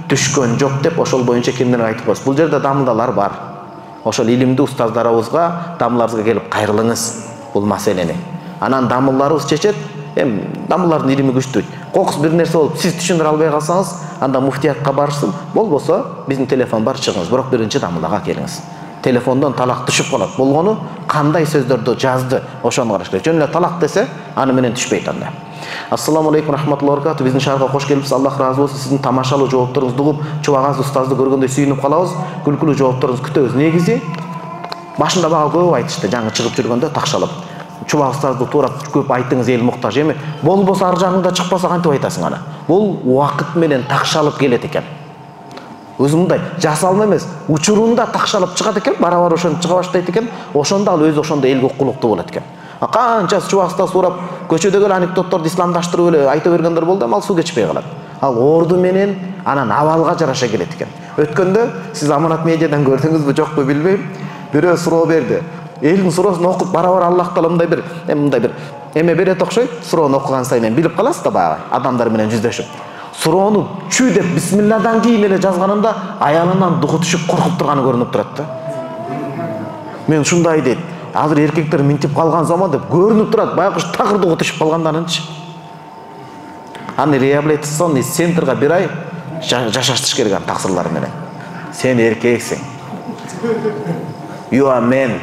түшкөн жок деп ошол боюнча кимдер айтып коет. Бул жерде дамылдалар бар. Ошол илимдүү устаздарыбызга, дамыларыбызга келип кайрылыңыз бул маселени. Анан дамылларыбыз чечет. Дамыллардын илими күчтүү. Кокус бир нерсе болуп, сиз түшүндүрө албай калсаңыз, анда муфтиятка барышсын. Болбосо, биздин телефон бар, чыгыңыз. Бирок биринчи дамылга келиңиз. Телефондон талак түшүп калат. Болгону кандай сөздөрдү жазды, ошону караш керек. Жөн эле талак десе, аны менен түшпөйт анда. Ассаламу алейкум рахматуллахи ва баракату. Биздин шаарга кош келипсиз. Аллах разы болсун. Сиздин тамашалуу жоопторуңузду угуп, чубагаз устазды көргөндө сүйүнүп калабыз. Күлкүлүү жоопторуңузду күтөбүз. Негизи башында бага көп айтышты, жаңы чыгып жүргөндө такшалып. Чубак устазды туурап көп айтыңыз, эл муктаж эми. Болбосо ар жагыңда чыкпаса кантип айтасың аны? Бул убакыт менен такшалып келет экен. Өзү мындай жасалма эмес, учурунда такшалып чыгат экен, бара-бара ошентип чыга баштайт экен. Ошондо ал өзү ошондо элге укулуктуу болот экен. Канча чубак устаз сурап, көчөдөгү анекдотторду исламдаштырып эле айта бергендер болду, ал суу кечпей калат. Ал орду менен анан абалга жараша келет экен. Өткөндө сиз Аманат медиадан көрдүңүзбү, жокпу билбейм. Бирөө суроо берди. Элдин суроосун окуп бара-бара Аллах таала мындай бир эме берет окшойт. Суроону окуган сайын билип каласыз да баягы адамдар менен жүздөшүп. Суроону чү деп бисмилладан кийин эле жазганында аялынан дугу түшүп коркуп турганы көрүнүп турат да. Мен ушундай дейт. Азыр эркектер минтип калган заман деп көрүнүп турат. Баягы тагыр дугу түшүп калгандарынчы. Аны реабилитационный центрга бир ай жашатыш керек аны таксырлар менен. Сен эркексиң. You are man,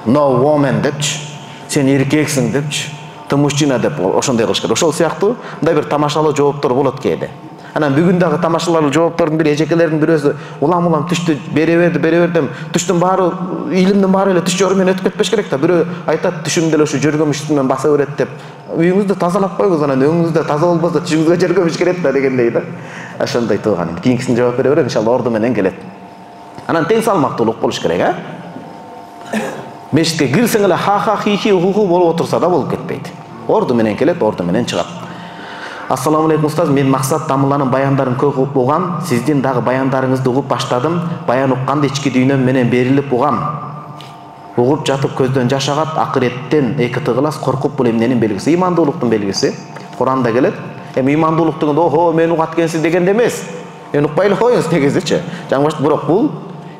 no woman депчи. Сен эркексиң депчи. Ты мужчина деп ошондой кылыш керек. Ошол сыяктуу мындай бир тамашалуу жооптор болот кээде. Анан бүгүн дагы тамашалуу жооптордун бири эжекелердин бирөөсү улам түштү бере бердим. Түштүн баары, илимдин баары эле түш жору менен өтүп кетпеш керек да. Бирөө айтат түшүмдө эле ушу жөргөмүш үстүнөн баса берет деп. Үйүңүздү тазалап койгуз, анан өңүңүздө таза болбосо түшүңүзгө жөргөмүш келет да дегендей да. Ошондой тууган. Кийинкисин жооп бере берем, иншалла орду менен келет. Анан тең салмактуулук болуш керек, а? Мешитке кирсең эле ха-ха, хи-хи, ху-ху болуп отурса да болуп кетпейт. Орду менен келет, орду менен чыгат. Ассаламу алейкум устаз, мен Максат Дамыланын баяндарын көп угам, сиздин дагы баяндарыңызды угуп баштадым. Баян укканда ички дүйнөм менен берилип угам. Угуп жатып көздөн жаш агат, акыреттен эки тыгылас, коркуп бул эмненин белгиси? Имандуулуктун белгиси. Куранда келет. Эми имандуулук дегенде, охо, мен угат экенсиз дегенде эмес. Мен укпай эле коюңуз негизичи. Жаңы бирок бул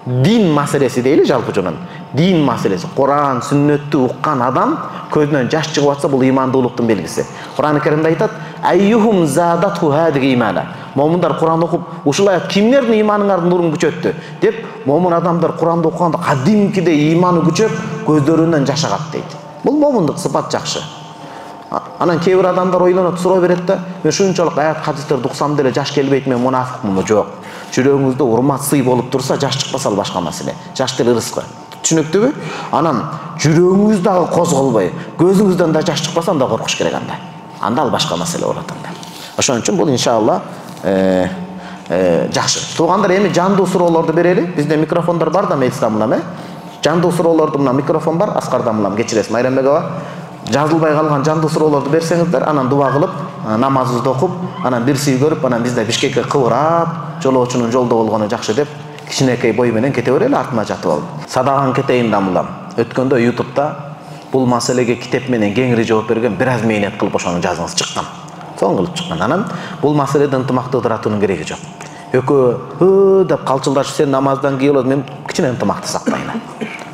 дин маселеси дейли жалпы жонун. Дин маселеси. Куран, сүннөттү уккан адам көзүнөн жаш чыгып атса бул имандуулуктун белгиси. Куран Керимде айтат: "Айюхум задатху хадиги имана." Момундар Куран окуп, ушул аят кимдердин иманыңардын нурун күчөттү деп, момун адамдар Куранды окуганда кадимкидей иманы күчөп, көздөрүнөн жаш агат дейт. Бул момундук сыпат жакшы. Анан кээ бир адамдар ойлонот, суроо берет да, мен шунчалык аят хадистерди уксам деле жаш келбейт, мен мунафикмынбы? Жок. Жүрөгүңүздө урмат, сый болуп турса, жаш чыкпаса ал башка маселе. Жаш деле рызкы. Түшүнүктүүбү? Анан жүрөгүңүз дагы козголбой, көзүңүздөн да жаш чыкпаса, анда коркуш керек анда. Анда ал башка маселе болот анда. Ошон үчүн бул иншалла жакшы. Туугандар, эми жандуу суроолорду берели. Бизде микрофондар бар да, Мейсамлам, Жандуу суроолорду мына микрофон бар, Аскар Дамлам, кечиресиз, Майрамбек аба. Жазылбай калган жандуу суроолорду берсеңиздер, анан дуба кылып, намазыбызды окуп, анан бир сый көрүп, анан бизде Бишкекке кыбырап, жолоочунун жолдо болгону жакшы деп, кичинекей бой менен кете берели, артыма жатып алып. Садаган кетейин Дамлам. Өткөндө YouTube'да бул маселеге китеп менен кеңири жооп берген, бир аз мээнет кылып ошону жазыңыз чыккан. Соң кылып чыккан. Анан бул маселеде ынтымакты ыдыратуунун кереги жок. Экөө деп калчылдашып, сен намаздан кийин болот, мен кичине ынтымакты сактайын.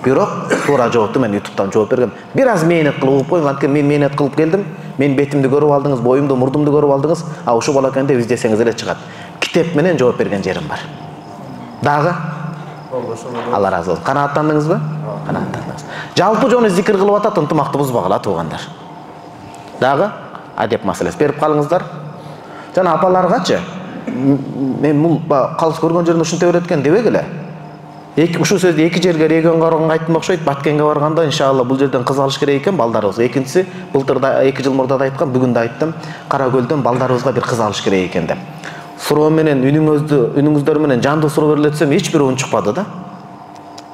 Бирок туура жоопту мен YouTube'дан жооп берген. Бир аз мээнет кылып угуп койгон, анткени мен мээнет кылып келдим. Мен бетимди көрүп алдыңыз, боюмду, мурдумду көрүп алдыңыз. А ушу бала экен деп издесеңиз эле чыгат. Китеп менен жооп берген жерим бар. Дагы? Алла разы болсун. Канааттандыңызбы? Канааттандыңыз. Жалпы жону зикир кылып атат, ынтымакты бузбагыла туугандар. Дагы адеп маселеси берип калыңыздар. Жана апаларгачы мен бул калыс көргөн жеринде ушинтип берет экен дебегиле. Ушул сөздү эки жерге регионго барганга айттым окшойт. Баткенге барганда иншалла бул жерден кыз алыш керек экен балдарыбыз. Экинчиси былтыр да 2 жыл мурда да айткам, бүгүн да айттым. Кара Көлдөн балдарыбызга бир кыз алыш керек экен деп. Суроо менен үнүңүздөр менен жандуу суроо берилетсем эч бир уун чыкпады да.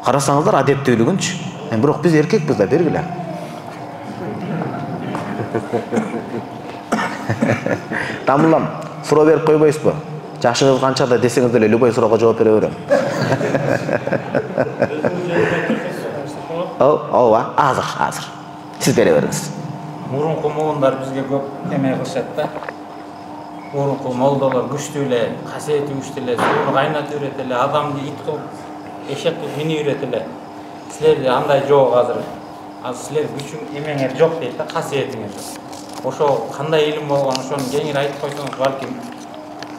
Карасаңыздар адептүүлүгүнчү. Бирок биз эркекпиз да бергиле. Тамылам, суроо берип койбойсузбу? Жашыңыз канча да десеңиз деле любой суроого жооп бере берем. Ооба, азыр. Сиз бере бериңиз. Мурунку муундар бизге көп эме кылышат да. Мурунку молдолор күчтүү эле, касиети күчтүү эле, сууну кайнатып үйрөт эле, адамды ит кылып, эшек кылып мини үйрөт эле. Силерде андай жок азыр. Азыр силер күчүң эмеңер жок дейт да, касиетиңер жок. Ошо кандай илим болгон, ошону кеңири айтып койсоңуз балким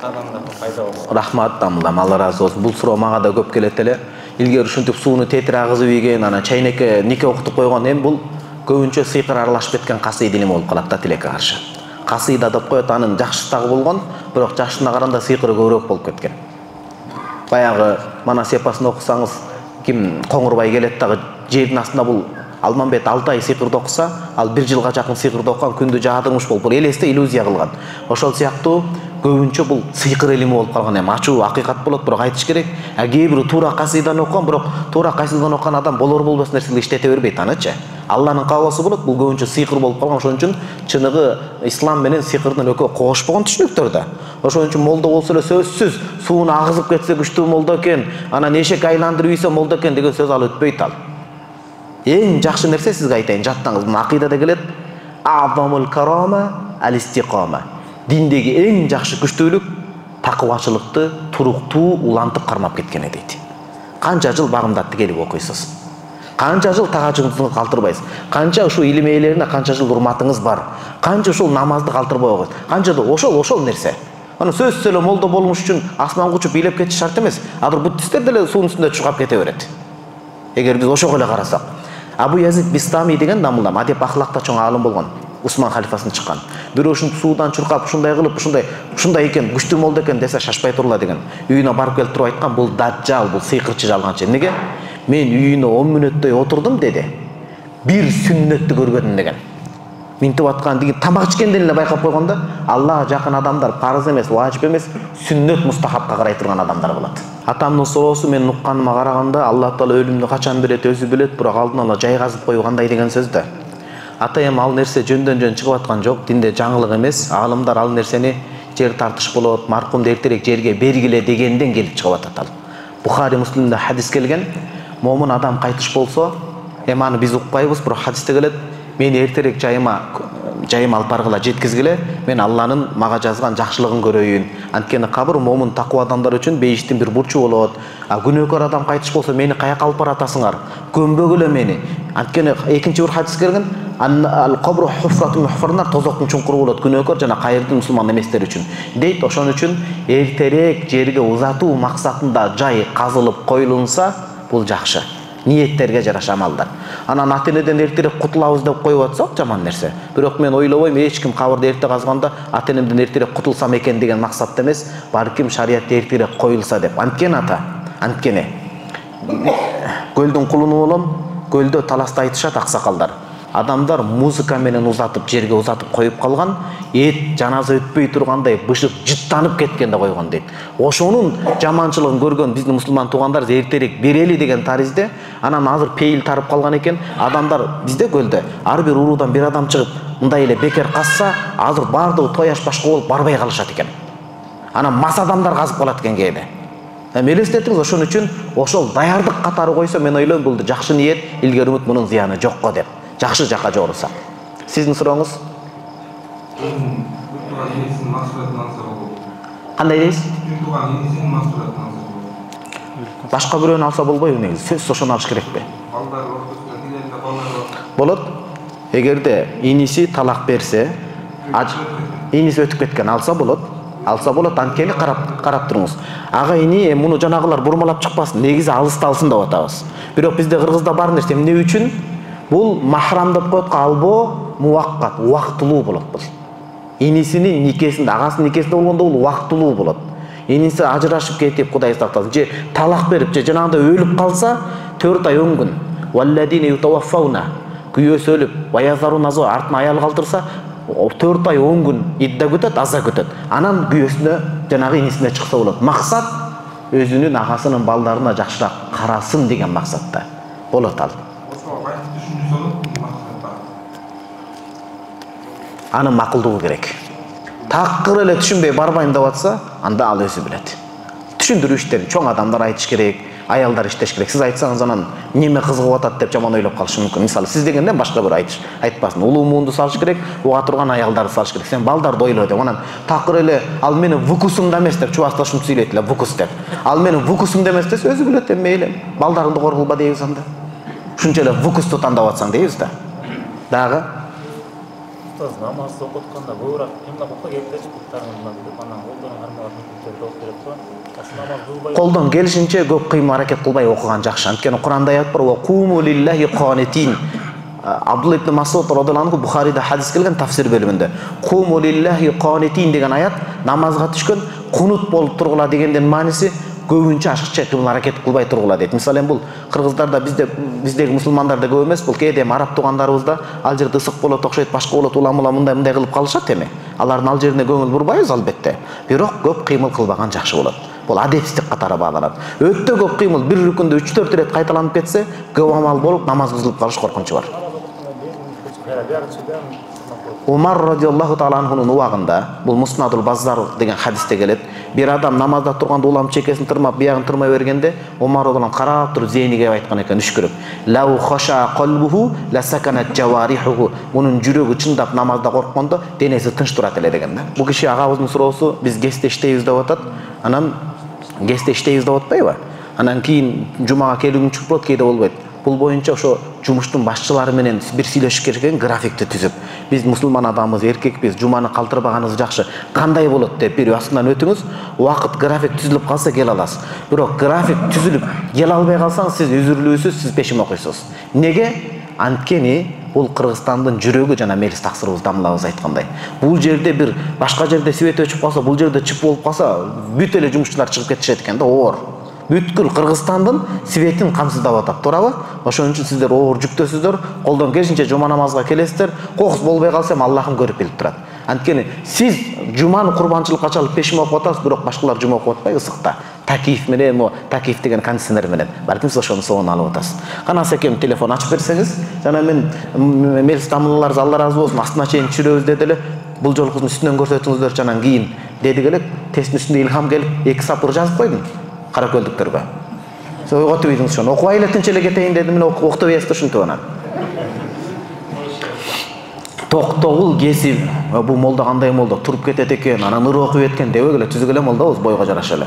адамдарга пайда болот. Рахмат тамылам, Алла ыраазы болсун. Бул суроо мага да көп келет эле. Илгери ушинтип сууну тетире агызып ийген, анан чайнекке нике окутуп койгон, эми бул көбүнчө сыйкыр аралашып кеткен касыйда илими болуп калат да тилекке каршы. Касыйда деп коет, анын жакшысы дагы болгон, бирок жакшысына караганда сыйкыры көбүрөөк болуп кеткен. Баягы мана сепасын окусаңыз, ким Коңурбай келет дагы жердин астында бул Алмамбет 6 ай сыйкырды окуса, ал 1 жылга жакын сыйкырды окуган, күндү жаадырмыш болуп, бул элесте иллюзия кылган. Ошол сыяктуу көбүнчө бул сыйкыр илими болуп калган. Эми ачуу акыйкат болот, бирок айтыш керек. Кээ бирөө туура касыйдан окуган, бирок туура касыйдан окуган адам болор болбос нерселерди иштете бербейт анычы. Алланын каалоосу болот, бул көбүнчө сыйкыр болуп калган. Ошон үчүн чыныгы ислам менен сыйкырдын экөө кошпогон түшүнүктөр да. Ошон үчүн молдо болсо эле сөзсүз сууну агызып кетсе күчтүү молдо экен, анан эшек айландырып ийсе молдо экен деген сөз ал өтпөйт ал. Эң жакшы нерсе сизге айтайын, жаттаңыз. Мына акыйдада келет. Азамул карама ал-истиқама. Диндеги эң жакшы күчтүүлүк такыбачылыкты туруктуу улантып кармап кеткени дейт. Канча жыл багымдатты келип окуйсуз. Канча жыл тагачыңызды калтырбайсыз. Канча ушул илим ээлерине канча жыл урматыңыз бар. Канча ушул намазды калтырбай окуйсуз. Канча да ошол нерсе. Аны сөзсүз эле молдо болмуш үчүн асманга учуп бийлеп кетиш шарт эмес. Азыр буддисттер деле суунун үстүндө чуркап кете берет. Эгер биз ошого эле карасак. Абу Язид Бистами деген дамылдам, адеп ахлакта чоң аалым болгон. Усман халифасынан чыккан. Бирөө ушинтип суудан чуркап, ушундай кылып, ушундай экен, күчтүү молдо экен десе шашпай турла деген. Үйүнө барып келип туруп айткан, бул даджал, бул сыйкырчы жалганчы. Эмнеге? Мен үйүнө 10 мүнөттөй отурдум деди. Бир сүннөттү көрбөдүм деген. Минтип аткан деген тамак ичкенден эле байкап койгондо, Аллага жакын адамдар парыз эмес, важип эмес, сүннөт мустахапка карай турган адамдар болот. Атамдын суроосу мен укканыма караганда, Алла Таала өлүмдү качан берет өзү билет, бирок алдын ала жайгазып коюу кандай деген сөздө. Ата эми ал нерсе жөндөн-жөн чыгып аткан жок, динде жаңылык эмес. Аалымдар ал нерсени жер тартыш болот, маркумду эртерээк жерге бергиле дегенден келип чыгып атат ал. Бухари Муслимде хадис келген, момун адам кайтыш болсо, эми аны биз укпайбыз, бирок хадисте келет, мени эртерээк жайыма алып баргыла, жеткизгиле, мен Алланын мага жазган жакшылыгын көрөйүн. Анткени кабыр момун такуу адамдар үчүн бейиштин бир бурчу болот. Күнөөкөр адам кайтыш болсо, мени каяка алып баратасыңар? Көмбөгүлө мени. Анткени экинчи бир хадис келген, ал-кабру хуфратун мухфарнар, тозоктун чуңкуру болот күнөөкөр жана кайырдын мусулман эместер үчүн. Дейт, ошон үчүн эртерээк жерге узатуу максатында жай казылып коюлунса, бул жакшы. Ниеттерге жараша амалдар. Анан ата-энеден эртерээк кутулабыз деп коюп атсак жаман нерсе. Бирок мен ойлобойм, эч ким кабырды эрте казганда ата-энемден эртерээк кутулсам экен деген максатта эмес, балким шариятта эртерээк коюлса деп. Анткени көлдүн кулуну болом, көлдө таласта айтышат аксакалдар. Адамдар музыка менен узатып, жерге узатып коюп калган, жаназа өтпөй тургандай бышып жыттанып кеткенде койгон дейт. Ошонун жаманчылыгын көргөн биздин мусулман туугандар эртерээк берели деген таризде, анан азыр пейил тарып калган экен. Адамдар бизде көлдө ар бир уруудан бир адам чыгып, мындай эле бекер казса, азыр баардыгы тояш башка болуп барбай калышат экен. Анан мас адамдар казып калат экен кээде. Элестетиңиз, ошон үчүн ошол даярдык катары койсо, мен ойлойм бул жакшы ниет, илгери үмүт мунун зыяны жокко деп. Жакшы жака жорусак. Сиздин сурооңуз? Кандай дейсиз? Башка бирөөнү алса болбойбу негизи? Сөзсүз ошону алыш керекпи? Болот. Эгерде иниси талак берсе, иниси өтүп кеткен алса болот. Анткени карап туруңуз. Ага ини муну жанагылар бурмалап чыкпасын. Негизи алыста алсын деп атабыз. Бирок бизде Кыргызда бар нерсе эмне үчүн? Бул махрам деп коет, албоо муаккат, убактылуу болот бул. Инисинин никесинде, агасынын никесинде болгондо бул убактылуу болот. иниси ажырашып кетип Кудай сактасын, же талак берип, же жанагындай өлүп калса 4 ай 10 күн. Валладина ютаваффауна, күйөөсү өлүп, ваязарун азо артына аял калтырса 4 ай 10 күн идда күтөт, аза күтөт. Анан күйөөсүнө жанагы инисине чыкса болот. Максат өзүнүн агасынын балдарына жакшыраак карасын деген максатта болот ал. Анын макулдугу керек. Такыр эле түшүнбөй барбайм деп атса, анда ал өзү билет. Түшүндүрүү иштерин чоң адамдар айтыш керек, аялдар иштеш керек. Сиз айтсаңыз анан неме кызыгып атат деп жаман ойлоп калышы мүмкүн. Мисалы, сиз дегенден башка бир айтпасын. Улуу муунду салыш керек, уга турган аялдарды салыш керек. Сен балдарды ойло деп. Анан такыр эле ал менин вукусумда эмес деп чубаста ушинтип сүйлөйт эле, вукус деп. Ал менин вукусумда эмес десе, өзү билет мейли. Балдарыңды коргулба дейбиз анда. Ушунча эле вукусту тандап атсаң дейбиз да. Дагы намаз окутканда көбүрөөк кимдеп окуй келипчи буттарыңыздан деп анан колдон армагатын күтүп окуп берет го. Намаз кылбай колдон келишинче көп кыймыл аракет кылбай окуган жакшы. Анткени Куранда аят бар: "Ва куму лиллахи qanitin". Абдулла ибн Масуд радhiyallahu anhu Бухарида хадис келген тафсир бөлүмүндө. "Куму лиллахи qanitin" деген аят намазга түшкөн кунут болуп тургула дегенден мааниси көбүнчө ашыкча кыймыл аракет кылбай тургула дейт. Мисалы бул кыргыздарда биздеги мусулмандарда көп эмес, бул кээде араб туугандарыбызда ал жерде ысык болот, окшойт, башка болот, уламула мындай кылып калышат эми. Алардын ал жерине көңүл бурбайбыз албетте. Бирок көп кыймыл кылбаган жакшы болот. Бул адепсиздик катары бааланат. Өтө көп кыймыл бир рүкүндө 3-4 ирет кайталанып кетсе, көп амал болуп намаз бузулуп калыш коркунучу бар. Умар радhiyallahu taala анхунун убагында, бул Муснадул Баззар деген хадисте келет, бир адам намазда турганда улам чекесин тырмап, биягын тырмай бергенде, Умар радhiyallahu карап туруп зейниге айткан экен үшкүрүп: "Лау хаша qalbuhu la sakanat jawarihuhu". Мунун жүрөгү чындап намазда корккондо денеси тынч турат эле деген да. Бул киши агабыздын суроосу, биз гесте иштейбиз деп атат. Анан гесте иштейбиз деп атпайбы? Анан кийин жумага келүүгүм чыгып болот, кээде болбойт. Бул боюнча ошо жумуштун башчылары менен бир сүйлөшүш керек экен, графикти түзүп. Биз мусулман адамбыз, эркекпиз, жуманы калтырбаганыбыз жакшы. Кандай болот деп бир астынан өтүңүз. Убакыт график түзүлүп калса кел аласыз. Бирок график түзүлүп кел албай калсаңыз, сиз үзүрлүүсүз, сиз пешим окуйсуз. Неге? Анткени бул Кыргызстандын жүрөгү, жана мелис таксырыбыз дамлабыз айткандай. Бул жерде бир башка жерде свет өчүп калса, бул жерде чып болуп калса, бүт эле жумушчулар чыгып кетишет экен да, оор. Бүткүл Кыргызстандын светин камсыздап атат, туурабы? Ошон үчүн сиздер оор жүктөсүздөр, колдон келишинче жума намазга келесиздер. Кокус болбой калса, Аллахым көрүп билип турат. Анткени сиз жуманы курбанчылыкка чалып пешим окуп атасыз, бирок башкалар жума окуп атпайбы ысыкта. Такиф менен, такиф деген кондиционер менен. Балким сиз ошонун соонун алып атасыз. Канаса экен телефон ачып берсеңиз, жана мен мелис тамырларыбыз Алла разы болсун, астына чейин түшүрөбүз деди эле. Бул жолкусун үстүнөн көрсөтүңүздөр, анан кийин деди элек, тесттин үстүндө илхам келип, 2 сапыр жазып койдум. Каракөлдүктөргө. Сиз ойготуп ийдиңиз ошону. Окубай эле тынч эле кетейин дедим, мен окутуп ийсиз ушинтип анан. Токтогул кесип, бул молда кандай молда, туруп кетет экен, анан ыр окуп эткен дебек эле, түзүк эле молдабыз, бойго жараша эле.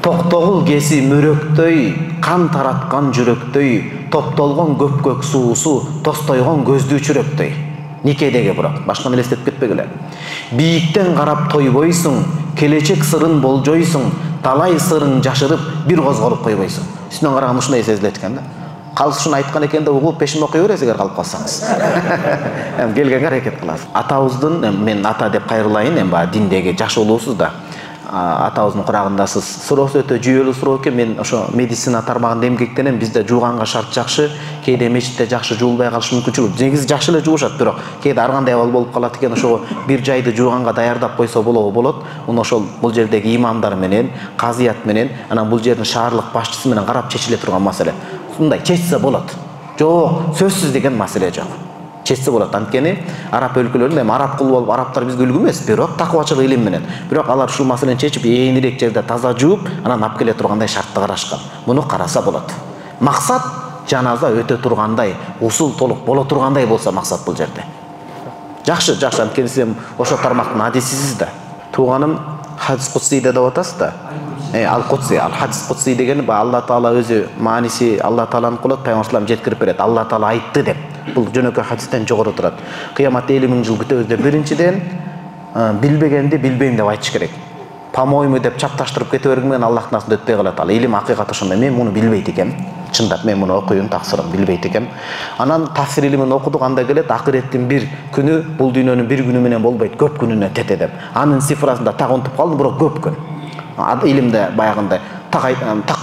Токтогул кеси мөрөктөй, кан тараткан жүрөктөй, топтолгон көпкөк суусу, тостойгон көздүү чүрөктөй. Никедеги бирок, башканы элестетип кетпегиле. Бийиктен карап тойбойсуң, келечек сырын болжойсуң, талай сырың жашырып, бир козголуп койбойсуң. Үстүнөн караганда ушундай сезилет экен да. Калыс ушуну айткан экен деп угуп пешим окуй бересиз эгер калып калсаңыз. Эми келгенге аракет кыласыз. Атабыздын, мен ата деп кайрылайын, эми баягы диндеги жаш улуусуз да. Атабыздын курагындасыз. Суроосу өтө жүйөлүү суроо экен. Мен ошо медицина тармагында эмгектенем. Бизде жууганга шарт жакшы, кээде мечитте жакшы жуулбай калыш мүмкүнчүлүк. Негизи жакшы эле жуушат, бирок кээде ар кандай абал болуп калат экен. Ошо бир жайды жууганга даярдап койсо болот. Муну ошол бул жердеги имамдар менен, казыят менен, анан бул жердин шаарлык башчысы менен карап чечиле турган маселе. Мындай чечсе болот. Жок, сөзсүз деген маселе жок. Чечсе болот. Анткени араб өлкөлөрүндө эми араб кул болуп, арабтар бизге үлгү эмес, бирок такыбачылык илим менен. Бирок алар ушул маселени чечип, ээнирээк жерде таза жууп, анан алып келе тургандай шартты карашкан. Муну караса болот. Максат жаназа өтө тургандай, усул толук боло тургандай болсо максат бул жерде. Жакшы, анткени сиз ошо тармактын адисисиз да. Тууганым хадис кутсийде деп атасыз да. Ал-Кутси, ал-Хадис Кутси деген Алла Таала өзү мааниси Алла Тааланын кулат пайгамбарлар жеткирип берет. Алла Таала айтты деп. Бул жөнөкөй хадистен жогору турат. Кыяматта 50 000 жыл күтөбүз деп биринчиден билбегенди билбейм деп айтыш керек. По-моему деп чапташтырып кете берген менен Аллахтын астында өтпөй калат. Ал илим акыйкат ошондой. Мен муну билбейт экем. Чындап мен муну окуйм, таксырым билбейт экем. Анан тафсир илимин окудук, анда келет акыреттин бир күнү бул дүйнөнүн бир күнү менен болбойт, көп күнүнө тете деп. Анын цифрасында так унутуп калдым, бирок көп күн. илимде баягындай так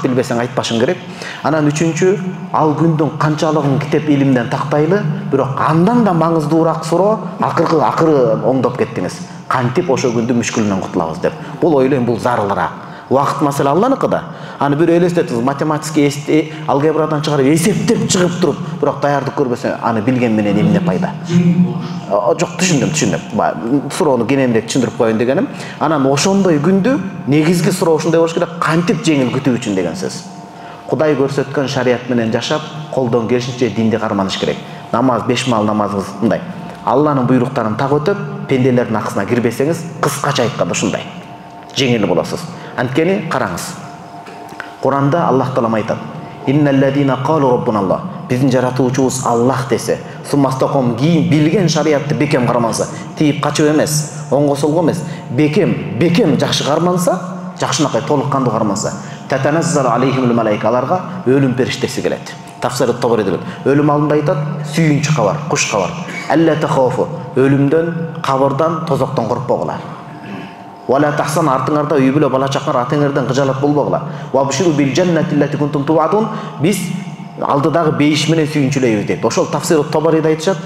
билбесең айтпашың керек. Анан үчүнчү, ал күндүн канчалыгын китеп илимден тактайлы, бирок андан да маңыздуураак суроо акыры оңдоп кеттиңиз. Кантип ошо күндүн мүшкүлүнөн кутулабыз деп. Бул ойлойм, бул зарылыраак. Убакыт маселе Алланыкыда. Аны бир элестетиңиз, математический алгебрадан чыгарып эсептеп чыгып туруп, бирок даярдык көрбөсө, аны билген менен эмне пайда? Жок, түшүндүм. Суроону кененирээк түшүндүрүп коеюн дегеним. Анан ошондой күндү негизги суроо ушундай болуш керек, кантип жеңил күтүү үчүн деген сөз. Кудай көрсөткөн шарият менен жашап, колдон келишинче динди карманыш керек. Намаз, 5 маал намазыңыз мындай. Алланын буйруктарын так өтөп, пенделердин акысына кирбесеңиз, кыскача айтканда ушундай. Жеңил болосуз. Анткени караңыз. Куранда Аллах таалам айтат: "Инналлазина қалу раббуналлах", биздин жаратуучубуз Аллах десе, суммастаком кийин билген шариятты бекем карманса, тийип качып эмес, оңго солго эмес, бекем жакшы карманса, жакшынакай толук кандуу карманса, татаназзалу алейхимул малаика, аларга өлүм периштеси келет. Тафсир Табари деп. Өлүм алдында айтат, сүйүнчү кабар, куш кабар. Алла тахауфу, өлүмдөн, кабырдан, тозоктон коркпогула. Вала тахсан, артыңарда үй бүлө бала чакар атыңардан кыжалат болбогула. Ва буширу бил жаннати лати кунтум туадун, биз алдыдагы бейиш менен сүйүнчүлөйбүз дейт. Ошол Тафсир Табариде айтышат,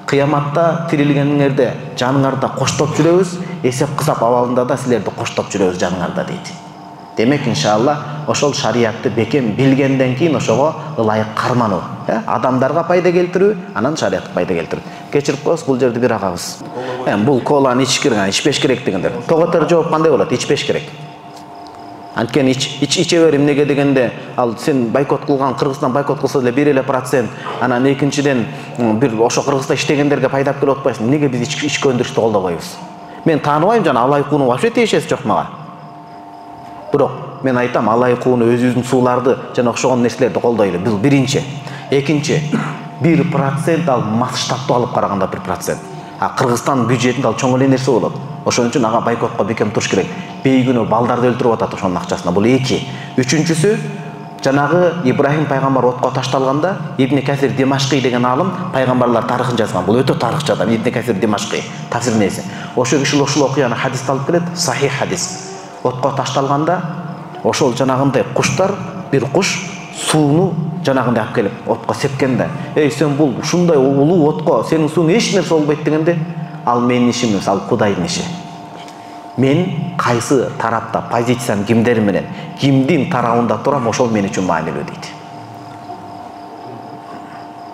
кыяматта тирилгениңерде жаныңарда коштоп жүрөбүз, эсеп кысап абалында да силерди коштоп жүрөбүз жаныңарда дейт. Демек иншалла ошол шариятты бекем билгенден кийин ошого ылайык кармануу, адамдарга пайда келтирүү, анан шариятка пайда келтирүү. Кечирип коесуз, бул жерде бир агабыз. Бул коланы ичпеш керек дегендер. Тоготор жооп кандай болот? Ичпеш керек. Анткени иче бер эмнеге дегенде, ал сен бойкот кылган, Кыргызстан бойкот кылса деле 1%, анан экинчиден бир ошо Кыргызда иштегендерге пайдап келип атпайсың. Эмнеге биз ички өндүрүштү колдобойбуз? Мен тааныбайм, жана алай кууну вообще тиешеси жок мага. Бирок мен айтам, алай кууну, өзүбүздүн сууларды жана окшогон нерселерди колдойлу. Бул биринчи. Экинчи, 1% ал масштабты алып караганда 1%. Кыргызстан бюджетинде ал чоң эле нерсе болот. Ошон үчүн ага бойкотко бекем туруш керек. Бейгүнөө балдарды өлтүрүп атат ошонун акчасына. Бул эки. Үчүнчүсү, жанагы Ибрахим пайгамбар отко ташталганда, Ибн Касир Димашкый деген алым пайгамбарлар тарыхын жазган. Бул өтө тарыхчы адам, Ибн Касир Димашкый, тафсирнеси. Ошол киши ушул окуяны хадисте алып келет, сахих хадис. Отко ташталганда, ошол жанагындай куштар, бир куш сууну жанагындай алып келип отко сепкенде, "Эй, сен бул ушундай улуу отко сенин сууң эч нерсе болбойт" дегенде, "Ал менин ишим эмес, ал Кудайдын иши. Мен кайсы тарапта позициям кимдер менен, кимдин тарабында турам, ошол мен үчүн маанилүү" дейт.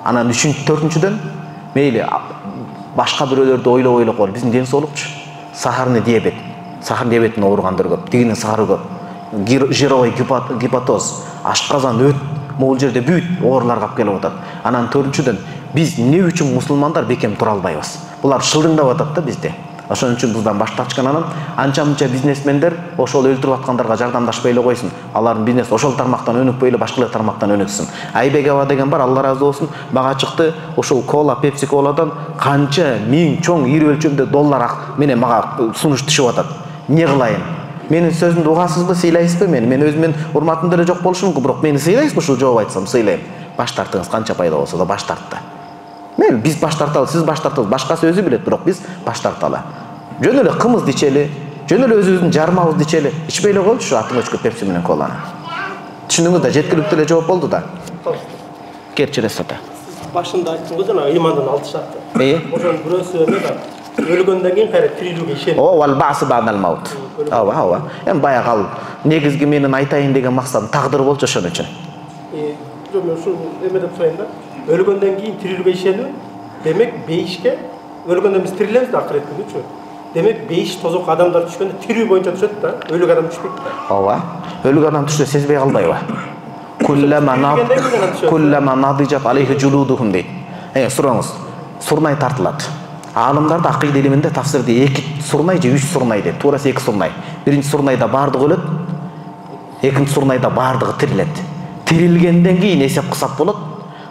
Анан төртүнчүдөн, мейли башка бирөөлөрдү ойлоп кой, биздин ден соолукчу. Сахарный диабет, сахар диабетине ооругандар көп, тигинин сахары көп. Жировой гепатоз, ашказан, өт, могул жерде бүт ооруларга алып келип атат. Анан төртүнчүдөн, биз эмне үчүн мусулмандар бекем тура албайбыз? Булар шылдыңдап атат да бизде. Ошон үчүн биздан баш тартышкан. Анан анча-мынча бизнесмендер ошол өлтүрүп аткандарга жардамдашпай эле койсун. Алардын бизнес ошол тармактан өнүкпөй эле башка тармактан өнүксүн. Айбек аба деген бар, Алла ыраазы болсун, мага чыкты, ошол кола, Pepsi Colaдан канча миң чоң ири өлчөмдө доллар менен мага сунуш түшүп атат. Эмне кылайын? Менин сөзүмдү угасызбы, сыйлайсызбы мени? Мен өзүмдүн урматым деле жок болушу мүмкүн, бирок мени сыйлайсызбы? Ушул жооп айтсам сыйлайм. Баш тартыңыз, канча пайда болсо да баш тартты. Мен биз баш тарталы, сиз баш тартыңыз, башкасы өзү билет, бирок биз баш тарталы. Жөн эле кымызды ичели, жөн эле өзүбүздүн жармабызды ичели. Ичпей эле койчу атың өчкө Pepsi менен коланы. Түшүндүңүз да, жеткиликтүү эле жооп болду да. Керчерес ата. Башында айттыңыз жана ыймандан алтышатты. Ошонун бирөөсү эмне да? Өлгөндөн кийин кайра тирилүүгө ишенет. Вал бa'с бa'дал маут. Ооба. Эми баягы ал негизги менин айтайын деген максатым тагдыр болчу ошон үчүн. Жок, мен ушул эме деп сурайын да. Өлгөндөн кийин тирилүүгө ишенүү, демек бейишке өлгөндөн биз тирилебиз да акырет күнүчү. Демек бейиш тозок адамдар түшкөндө тирүү боюнча түшөт да, өлүк адам түшпөйт да. Ооба. Өлүк адам түштө сезбей калбайбы? Куллама надижат алейхи жулудухум дейт. Сураңыз. Сурнай тартылат. Алымдарда акыйда илиминде тафсирде 2 сурнай же 3 сурнай дейт. Туурасы 2 сурнай. Биринчи сурнайда баардыгы өлөт. Экинчи сурнайда баардыгы тирилет. Тирилгенден кийин эсеп кысап болот.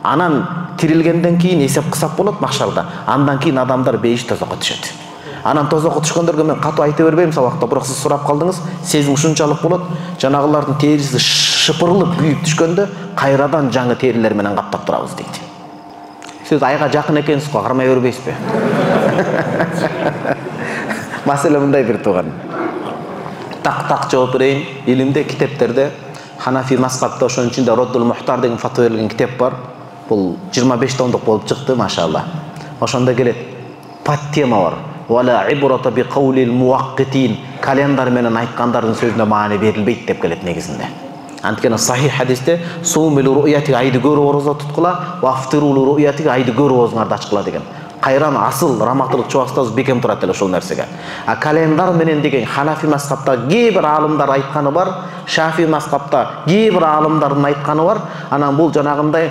Анан тирилгенден кийин эсеп кысап болот махшарда. Андан кийин адамдар бейиш тозокко түшөт. Анан тозокко түшкөндөргө мен катуу айта бербейм сабакта, бирок сиз сурап калдыңыз, сезим ушунчалык болот. Жанагылардын териси шыпырылып күйүп түшкөндө кайрадан жаңы терилер менен каптап турабыз дейт. Сиз айга жакын экенсиз го, кармай бербейсизби? Маселе мындай бир тууган. так жооп берейин. Илимде, китептерде Ханафи мазхабта ошонун ичинде Роддул Мухтар деген фатва берилген китеп бар. Бул 25 томдук болуп чыкты, машалла. Ошондо келет подтема бар. Вала ибрата би каулил муаккитин. Календар менен айткандардын сөзүнө маани берилбейт деп келет негизинде. Анткени сахих хадисте сумил ру'яти айды көрүп орозо туткула, вафтирул ру'яти айды көрүп оозуңарды ачкыла деген. Кайран асыл раматтылык чубастабыз бекем турат эле ошол нерсеге. А календар менен деген Ханафи мазхабта кээ бир аалымдар айтканы бар, Шафи мазхабта кээ бир аалымдардын айтканы бар. Анан бул жанагындай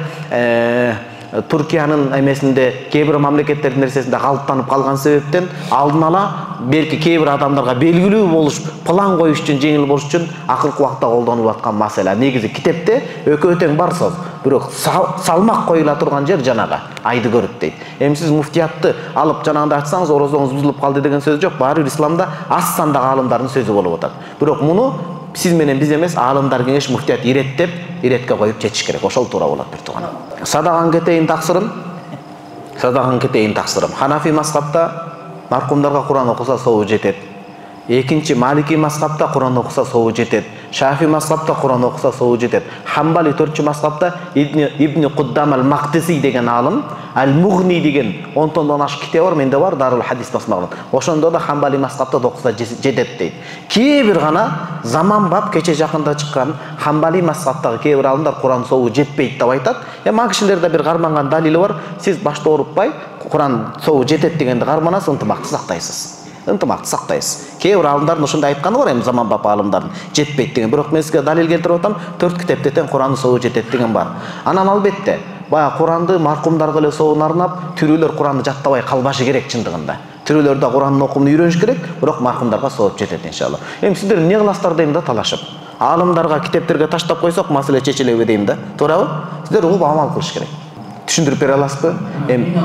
Туркиянын эмесинде кээ бир мамлекеттердин нерсесинде калыптанып калган себептен алдын ала белки кээ бир адамдарга белгилүү болуш, план коюш үчүн, жеңил болуш үчүн акылкы убакта колдонуп аткан маселе. Негизи китепте экөө тең бар сөз. Бирок салмак коюла турган жер жанагы айды көрүп дейт. Эми сиз муфтиятты алып жанагында айтсаңыз орозоңуз бузулуп калды деген сөз жок. Баары бир исламда аз сандагы аалымдардын сөзү болуп атат. Бирок муну сиз менен биз эмес, аалымдар кеңеш муфтият иреттеп, иретке коюп жетиш керек. Ошол туура болот бир тууган. Садаган кетейин таксырым. Ханафи мазхабта маркумдарга Куран окуса собу жетет. Экинчи Малики мазхабта Куран окуса собу жетет. Шафи мазхабта Куран окуса собу жетет. Хамбали 4-чү мазхабта Ибн Куддам ал-Мaqdisi деген аалым, Ал-Мугни деген 10 томдон ашык китеп бар, менде бар, Дарул Хадис басмаган. Ошондо да Хамбали мазхабта окуса жетет дейт. Кээ бир гана заманбап кече жакында чыккан Хамбали мазхабтагы кээ бир аалымдар Куран собу жетпейт деп айтат. Эми кишилерде бир карманган далили бар. Сиз башта оруппай, Куран собу жетет дегенди карманасыз, ынтымакты сактайсыз. Кээ бир аалымдардын ошондой айтканы бар, эми заманбап аалымдардын жетпейт деген. Бирок мен сизге далил келтирип атам, 4 китепте тең Курандын собу жетет деген бар. Анан албетте баягы Куранды маркумдарга эле собун арнап, тирүүлөр Куранды жаттабай калбашы керек чындыгында. Тирүүлөр да Курандын окумун үйрөнүш керек, бирок маркумдарга собуп жетет иншалла. Эми сиздер эмне кыласыздар дейм да талашып. Аалымдарга, китептерге таштап койсок, маселе чечилеби дейм да. Туурабы? Сиздер угуп амал кылыш керек. Түшүндүрүп бере аласызбы? Эми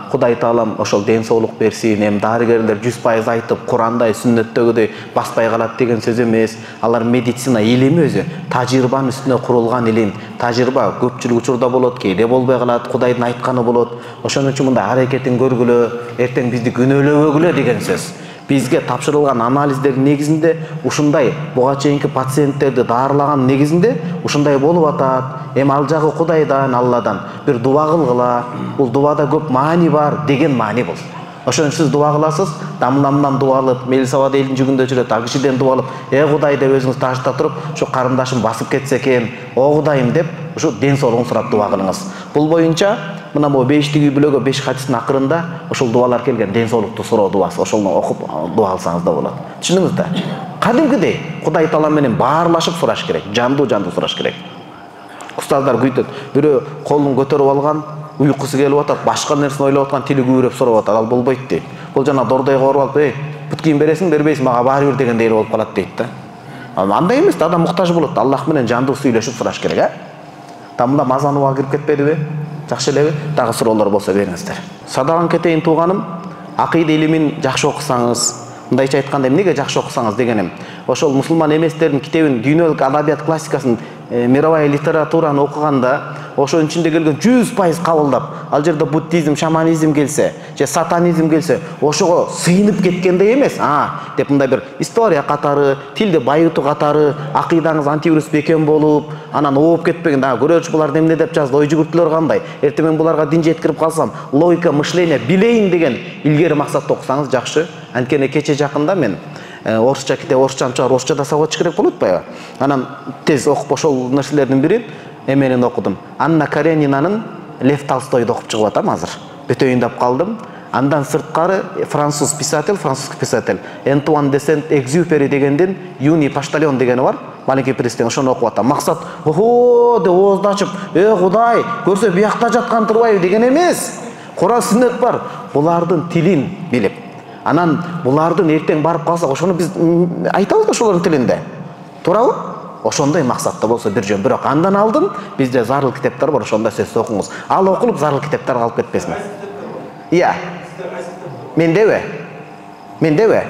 Кудай Таалам ошол ден соолук берсин. Эми дарыгерлер 100% айтып, Курандай, сүннөттөгүдөй баспай калат деген сөз эмес. Алар медицина илими өзү тажрыйбанын үстүнө курулган илим. Тажрыйба көпчүлүк учурда болот, кээде болбой калат, Кудайдын айтканы болот. Ошон үчүн мындай аракетин көргүлө, эртең бизди күнөөлөбөгүлө деген сөз. Бизге тапшырылган анализдердин негизинде ушундай буга чейинки пациенттерди даарылаган негизинде ушундай болуп атат. Эми ал жагы Кудайдан, Алладан бир дуба кылгыла. Бул дубада көп маани бар деген маани бул. Ошон сиз дуба кыласыз, дамламдан дуба алып, Мелисабад элдин жүгүндө жүрөт, ал кишиден дуба алып, Кудай деп өзүңүз ташта туруп, ушу карындашым басып кетсе экен, Кудайым деп, ушу ден соолугун сурап дуба кылыңыз. Бул боюнча мына бу 5-тиги бүлөгө 5 хадистин акырында ошол дубалар келген, ден соолукту суроо дубасы. Ошону окуп дуба алсаңыз да болот. Түшүндүңүз да? Кадимкидей Кудай Таала менен баарлашып сураш керек, жандуу сураш керек. Устаздар күйтөт, бирөө колун көтөрүп алган, уйкусу келип атат, башка нерсени ойлоп аткан, тили күйрөп сурап атат, ал болбойт дейт. Бул жана дордойго барып алып, бүт кийин бересиң, бербейсиң, мага баары бир дегендей болуп калат дейт да. Андай эмес да, адам муктаж болот, Аллах менен жандуу сүйлөшүп сураш керек, Тамда мазаны уга кирип кетпедиби? Жакшы элеби? Дагы суроолор болсо бериңиздер. Садаган кетейин тууганым, акыйда илимин жакшы окусаңыз, мындайча айтканда эмнеге жакшы окусаңыз дегеним, ошол мусулман эместердин китебин, дүйнөлүк адабият классикасын, мировая литератураны окуганда, ошонун ичинде келген 100% кабылдап, ал жерде буддизм, шаманизм келсе, же сатанизм келсе, ошого сыйынып кеткендей эмес, деп мындай бир история катары, тилди байытуу катары, акыйдаңыз антивирус бекем болуп, анан ооп кетпеген, көрөчү булар эмне деп жазды, ой жүгүртүлөр кандай, эртең мен буларга дин жеткирип калсам, логика мышления билейин деген илгери максатта окусаңыз жакшы. Анткени кече жакында мен орусча китеп, орусчаны чыгарып, орусчада сабак керек болот атпайбы? Анан тез окуп ошол нерселердин бири эменин окудум. Анна Каренинанын Лев Толстойду окуп чыгып атам азыр. Бүтөйүн деп калдым. Андан сырткары французский писатель Антуан де Сент-Экзюпери дегендин Юни Поштальон дегени бар. Маленький принцтен ошону окуп атам. Максат, деп оозду ачып, Кудай, көрсө биякта жаткан турбайбы деген эмес. Куран сүннөт бар. Булардын тилин билип, анан булардын эртең барып калсак, ошону биз айтабыз ошолордун тилинде. Туурабы? Ошондой максатта болсо бир жөн. Бирок андан алдын бизде зарыл китептер бар, ошондо сиз окуңуз. Ал окулуп зарыл китептер калып кетпесин. Iya. Мендеби? Мендеби?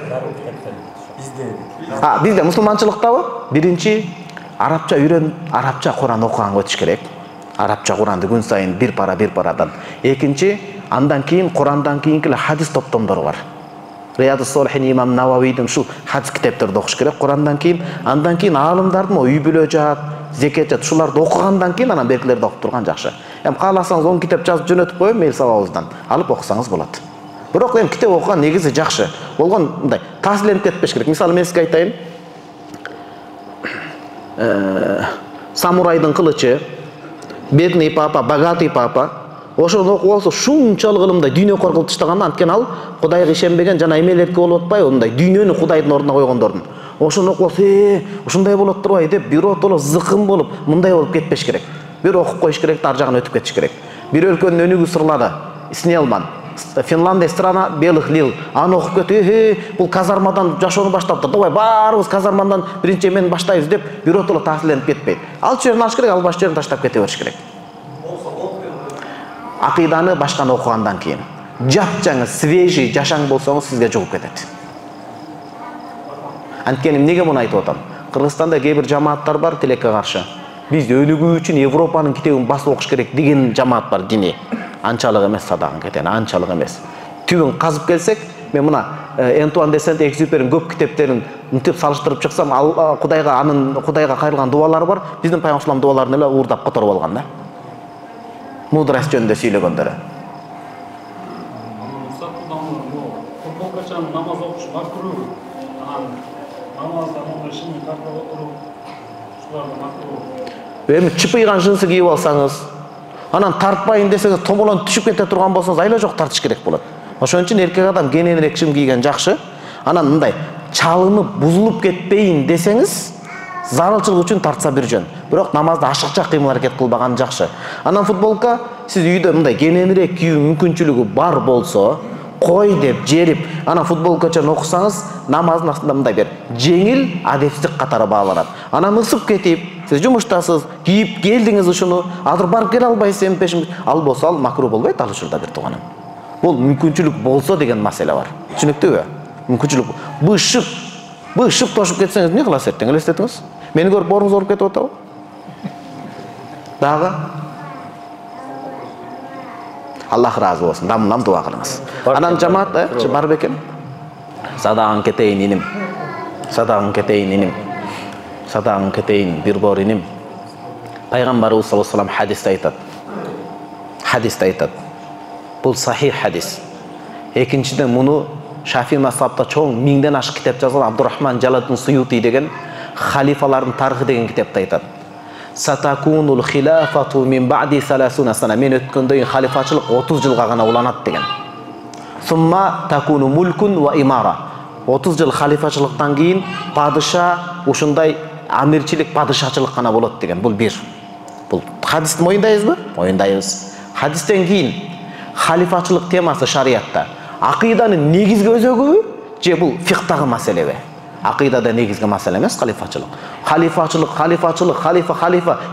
Бизде мусулманчылыктабы? Биринчи арабча үйрөн, арабча Куран окуганга өтүш керек. Арабча Куранды күн сайын бир парадан. Экинчи, андан кийин Курандан кийинки хадис топтомдору бар. Рияд-ус-Солихин имам Нававийдин ушул хадис китептерди окуш керек Курандан кийин, андан кийин аалымдардын үй бүлө жаат, зекет жаат ушуларды окугандан кийин анан беркилерди окуп турган жакшы. Кааласаңыз 10 китеп жазып жөнөтүп коем мейл сабабыздан. Алып окусаңыз болот. Бирок китеп окуган негизи жакшы. Болгон мындай таасирленип кетпеш керек. Мисалы мен сизге айтайын. Самурайдын кылычы, бедный папа, богатый папа. Ошону окуп алса шунчалык ылымдай дүйнө кылып таштаганда, анткени ал Кудайга ишенбеген жана эмелерге болуп атпайбы, мындай дүйнөнү Кудайдын ордуна койгондордун. Ошону окуп алса, ушундай болот турбайбы деп биротоло зыкым болуп, мындай болуп кетпеш керек. Бир окуп коюш керек, ар жагына өтүп кетиш керек. Бир өлкөнүн өнүгүү сырлары, Снелман, Финландия страна белых лил. Аны окуп кетип, бул казармадан жашоону баштаптыр. Давай баарыбыз казармадан биринчи эмени баштайбыз деп биротоло таасирленип кетпейт. Ал жерин алыш керек, ал баш жерин таштап кете бериш керек. Акыйданы башканы окугандан кийин жапжаңы, свежий жашаң болсоңуз сизге жугуп кетет. Анткени эмнеге муну айтып атам? Кыргызстанда кээ бир жамааттар бар тилекке каршы. Биз өнүгүү үчүн Европанын китебин басып окуш керек деген жамаат бар, дини. Анчалык эмес садагын кетен, анчалык эмес. Түбүн казып келсек, мен мына Антуан де Сент-Экзюперин көп китептерин мынтип салыштырып чыксам, ал Кудайга кайрылган дуалары бар. Биздин пайгамбар дуаларын эле уурдап которуп алган да. Мудрость жөнүндө сүйлөгөндөрү. Футболкачан намаз окуш макруh. Намаздан оңой шыны тартып отуруп, ушуларды макруh. Эми чыпыйган жынсы кийип алсаңыз, анан тартпайын десеңиз, томолон түшүп кете турган болсоңуз, айла жок тартыш керек болот. Ошон үчүн эркек адам кененирээк шым кийген жакшы. Анан мындай чалынып, бузулуп кетпейин десеңиз, зарылчылык үчүн тартса бир жөн. Бирок намазда ашыкча кыймыл аракет кылбаган жакшы. Анан футболка сиз үйдө мындай кененирээк кийүү мүмкүнчүлүгү бар болсо, кой деп жерип, анан футболкачан окусаңыз, намаздын астында мындай бир жеңил адепсиздик катары бааланат. Анан ысып кетип, сиз жумуштасыз, кийип келдиңиз ушуну, азыр барып келе албайсыз, пешим ал болсо ал макруh болбойт, ал учурда бир тууганым. Бул мүмкүнчүлүк болсо деген маселе бар. Түшүнүктүүбү? Мүмкүнчүлүк. Бышып тошуп кетсеңиз эмне кыласыз эртең? Элестетиңиз. Мени көрүп орнуңуз ооруп кетип атабы? Дагы Аллах разы болсун. Дамынан дуа кылыңыз. Анан жамаат бар бекен. Садагың кетейин иним. Садагың кетейин иним. Садагың кетейин бир бор иним. Пайгамбарыбыз саллаллаху алейхи ва саллям хадисте айтат. Бул сахих хадис. Экинчиден муну Шафи мазхабта чоң 1000ден ашык китеп жазган Абдурахман Жалалдин Суюти деген халифалардын тарыхы деген китепте айтат. Сатакунул хилафату мин ба'ди 30 сана. Мен өткөндөн кийин халифачылык 30 жылга гана уланат деген. Сумма такуну мулкун ва имара. 30 жыл халифачылыктан кийин падыша ушундай амирчилик, падышачылык гана болот деген. Бул бир. Бул хадисти моюндайбызбы? Моюндайбыз. Хадистен кийин халифачылык темасы шариатта акыйданын негизги өзөгүбү же бул фикhtагы маселеби? Акыйдада негизги маселе эмес халифачылык. Халифа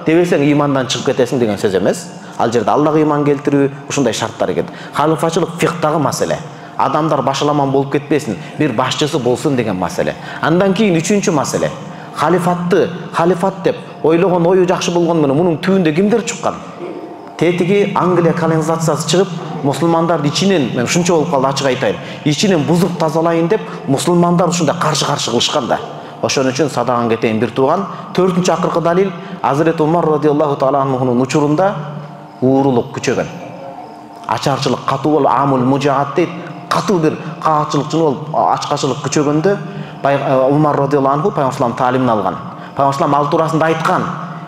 дебесең имандан чыгып кетесиң деген сөз эмес. Ал жерде Аллага иман келтирүү ушундай шарттар экен. Халифачылык фикhtагы маселе. Адамдар башаламан болуп кетпесин, бир башчысы болсун деген маселе. Андан кийин үчүнчү маселе. Халифат деп ойлогон ою жакшы болгон менен мунун түбүндө кимдер чыккан? Тетиги Англия колонизациясы чыгып, мусулмандарды ичинен, мен ушунча болуп калды ачык айтайын, ичинен бузуп тазалайын деп мусулмандар ушундай каршы кылышкан да. Ошон үчүн садаган кетейин бир тууган. 4-чү акыркы далил Азирет Умар радиаллаху таала анхунун учурунда уурулук күчөгөн. Ачарчылык катуу болуп, амул мужаат дейт, катуу бир каачылыкчы болуп, ачкачылык күчөгөндө Умар радиаллаху анху пайгамбар таалимин алган. Пайгамбар ал туурасында айткан: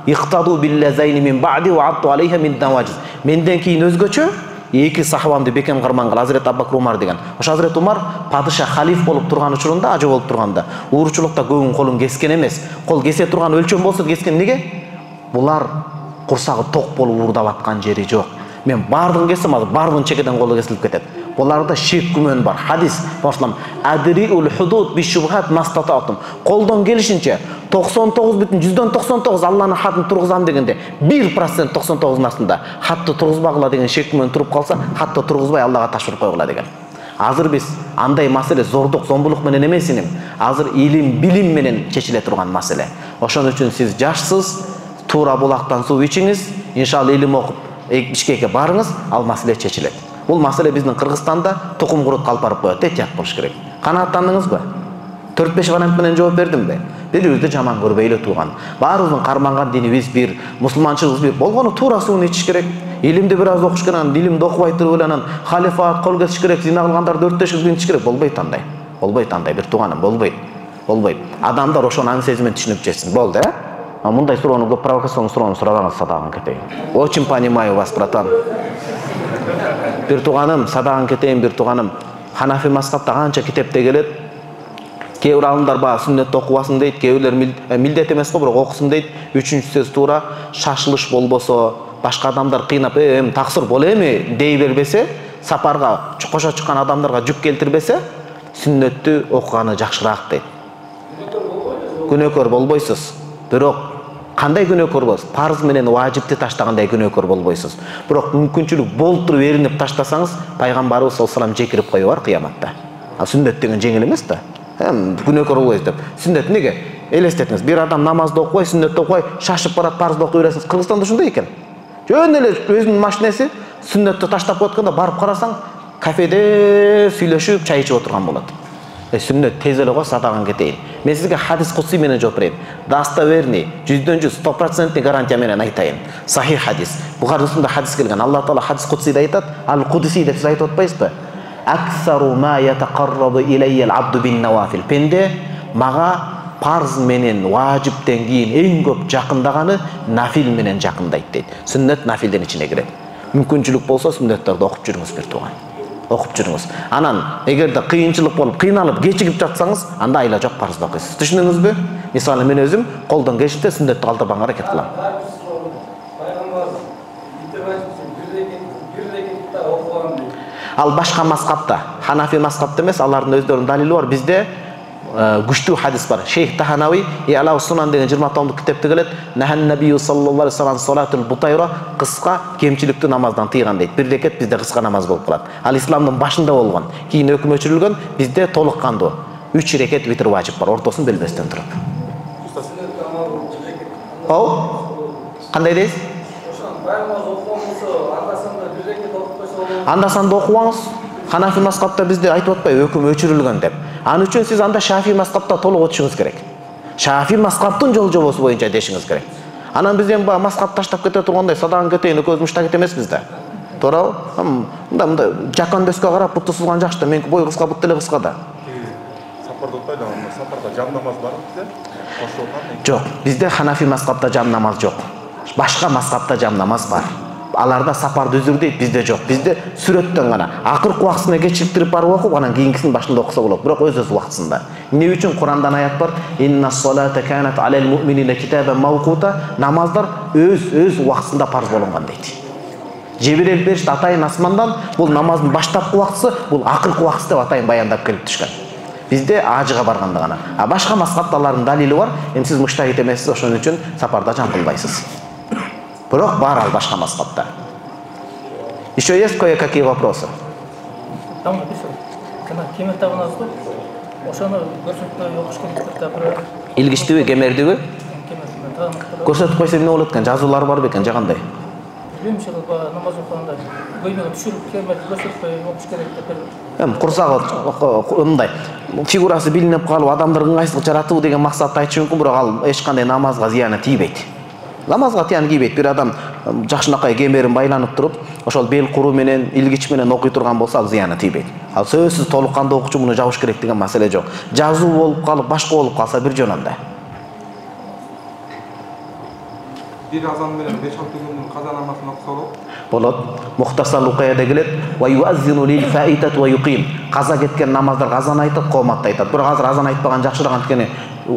"Иқтаду биллазайни мин ба'ди ва ату алейха мин наважиз." Менден кийин өзгөчө эки сахабамды бекем карманган Азирет Аббакр Умар деген. Ошо Азирет Умар падыша халиф болуп турган учурунда, ажы болуп турганда, ууручулукта көбүн колун кескен эмес. Кол кесе турган өлчөм болсо кескен. Эмнеге? Булар курсагы ток болуп уурдап аткан жери жок. Мен бардыгын кессем, азыр бардыгын чекеден колу кесилип кетет. Буларда шек күмөн бар. Хадис башлам: "Адриул худуд би шубхат мастататум." Колдон келишинче 99,99 Алланын хатын тургузам дегенде 1% 99 астында хатты тургузбагыла деген шек күмөн туруп калса, хатты тургузбай Аллага ташкыр койгула деген. Азыр биз андай маселе зордук, зомбулук менен эмес иним. Азыр илим, билим менен чечиле турган маселе. Ошон үчүн сиз жашсыз, туура булактан суу ичиңиз, иншалла илим окуп Бишкекке барыңыз, ал маселе чечилет. Бул маселе биздин Кыргызстанда тукум курут калп барып коет, этият болуш керек. Канааттандыңызбы? 4-5 вариант менен жооп бердимби? Бири-бирибизди жаман көрбөйлө тууган. Баарыбыздын карманган динибиз бир, мусулманчылыгыбыз бир. Болгону туура суун ичиш керек. Илимди бир аз окуш керек, илимди окубай туруп эле анан халифат кол kesиш керек, зина кылгандарды өрттөшүп ичиш керек. Болбойт андай. Болбойт андай бир тууганым, болбойт. Болбойт. Адамдар ошону аң сезим менен түшүнүп жетсин. Болду, Мындай суроону көп провокацион суроону сурабаңыз, садагын кетейин. Очень понимаю вас, братан. Бир тууганым, садагын кетейин, бир тууганым. Ханафи мазхабта канча китепте келет. Кээ бир алымдар баа сүннөттү окубасын дейт, кээ бирлер милдет эмес го, бирок окусун дейт. Үчүнчү сөз туура, шашылыш болбосо, башка адамдар кыйнап, таксыр боло эми дей бербесе, сапарга кошо чыккан адамдарга жүк келтирбесе, сүннөттү окуганы жакшыраак дейт. Күнөөкөр болбойсуз. Бирок кандай күнөөкөр болосуз? Парз менен важипти таштагандай күнөөкөр болбойсуз. Бирок мүмкүнчүлүк болуп туруп эринип таштасаңыз, пайгамбарыбыз саллаллаху алейхи вассалам жекирип коюп бар кыяматта. Сүннөт деген жеңил эмес да. Күнөөкөр болбойсуз деп. Сүннөт неге? Элестетиңиз, бир адам намазды окубай, сүннөттү окубай, шашып барат, парзды окуй бересиңиз. Кыргызстанда ушундай экен. Жөн эле өзүнүн машинеси сүннөттү таштап коютканда барып карасаң, кафеде сүйлөшүп, чай ичип отурган болот. Сүннөт тез эле го, садагын кетейин. Мен сизге хадис кудси менен жооп берейин. Достоверный, 100% 100% гарантия менен айтайын. Сахих хадис. Бухарисында хадис келген. Алла Таала хадис кудсиде айтат, ал-Кудси деп сиз айтып атпайсызбы? Аксару ма ятақаррабу илайя ал-абду бин-навафил. Пенде мага парз менен важиптен кийин эң көп жакындаганы нафил менен жакындайт дейт. Сүннөт нафилдин ичине кирет. Мүмкүнчүлүк болсо сүннөттөрдү окуп жүрүңүз бир тууган. Окуп жүрүңүз. Анан эгерде кыйынчылык болуп, кыйналып кечигип жатсаңыз, анда айла жок парзды окуйсуз. Түшүндүңүзбү? Мисалы мен өзүм колдон келишинче сүннөттү калтырбаганга аракет кылам. Ал башка мазхабта, Ханафи мазхабта эмес, алардын өздөрүнүн далили бар. Бизде күчтүү хадис бар. Шейх Таханави Иалау Сунан деген 20 томдук китепте келет. Нахан набию саллаллаху алейхи вассалам салатул бутайра, кыска кемчиликтүү намаздан тыйган дейт. Бир рекет бизде кыска намаз болуп калат. Ал исламдын башында болгон. Кийин өкүм өчүрүлгөн, бизде толук кандуу 3 рекет витр важип бар, ортосун белбестен туруп. Кандай дейсиз? Андасанда окубаңыз. Ханафи мазхабта бизде айтып атпайбы өкүм өчүрүлгөн деп. Аны үчүн сиз анда Шафи мазхабта толук окушуңуз керек. Шафи мазхабтын жол жобосу боюнча дешиңиз керек. Анан биз эми баа мазхаб таштап кете тургандай садагын кетейин, экөөбүз муштак эмеспиз да. Туурабы? Мындай жакан дөскө карап буту сызган жакшы да, меники бой кыска, бут деле кыска да. Сапарда отпайды, сапарда жам намаз барбы бизде? Жок, бизде Ханафи мазхабта жам намаз жок. Башка мазхабта жам намаз бар. Аларда сапарды үзүр дейт, бизде жок. Бизде сүрөттөн гана акыркы убактысына кечиктирип барып окуп, анан кийинкисин башында окуса болот. Бирок өз убактысында. Эмне үчүн Курандан аят бар? Инна-ссалата канат алал му'минина китабан мавкута. Намаздар өз убактысында парз болгон дейт. Жебирел беришти атайын асмандан, бул намаздын баштапкы убактысы, бул акыркы убактысы деп атайын баяндап келип түшкөн. Бизде ажыга барганда гана. А башка мазхабталардын далили бар. Эми сиз муштахид эмессиз, ошон үчүн сапарда жам кылбайсыз. Бирок бар ал башка мазхабта. Еще есть кое-какие вопросы? Там написано. Кана кемер табынасыз го? Ошону көрсөтпөй окуш керек деп Илгичтиби, кемердиби? Көрсөтүп койсо эмне болот экен? Жазуулары барбы экен, же кандай? Билбейм, намаз окуганда көймөгө түшүрүп кемерди көрсөтпөй окуш керек деп. Эми курсагы мындай фигурасы билинип калып, адамдарды ыңгайсыздык жаратуу деген максатты айтышы мүмкүн, бирок ал эч кандай намазга зыяны тийбейт. Намазга тыян тийбейт. Бир адам жакшынакай кемерин байланып туруп, ошол бел куру менен, илгич менен окуй турган болсо, ал зыяны тийбейт. Ал сөзсүз толук кандуу окуучу муну жабыш керек деген маселе жок. Жазуу болуп калып, башка болуп калса бир жөн анда. Бир азан менен 5-6 күндүн каза намазын окуса болот. Мухтасар Лукаяда келет: "Ва юаззину лил фаитат ва юqim." Каза кеткен намаздар азан айтат, кооматты айтат. Бирок азыр азан айтпаган жакшыраак, анткени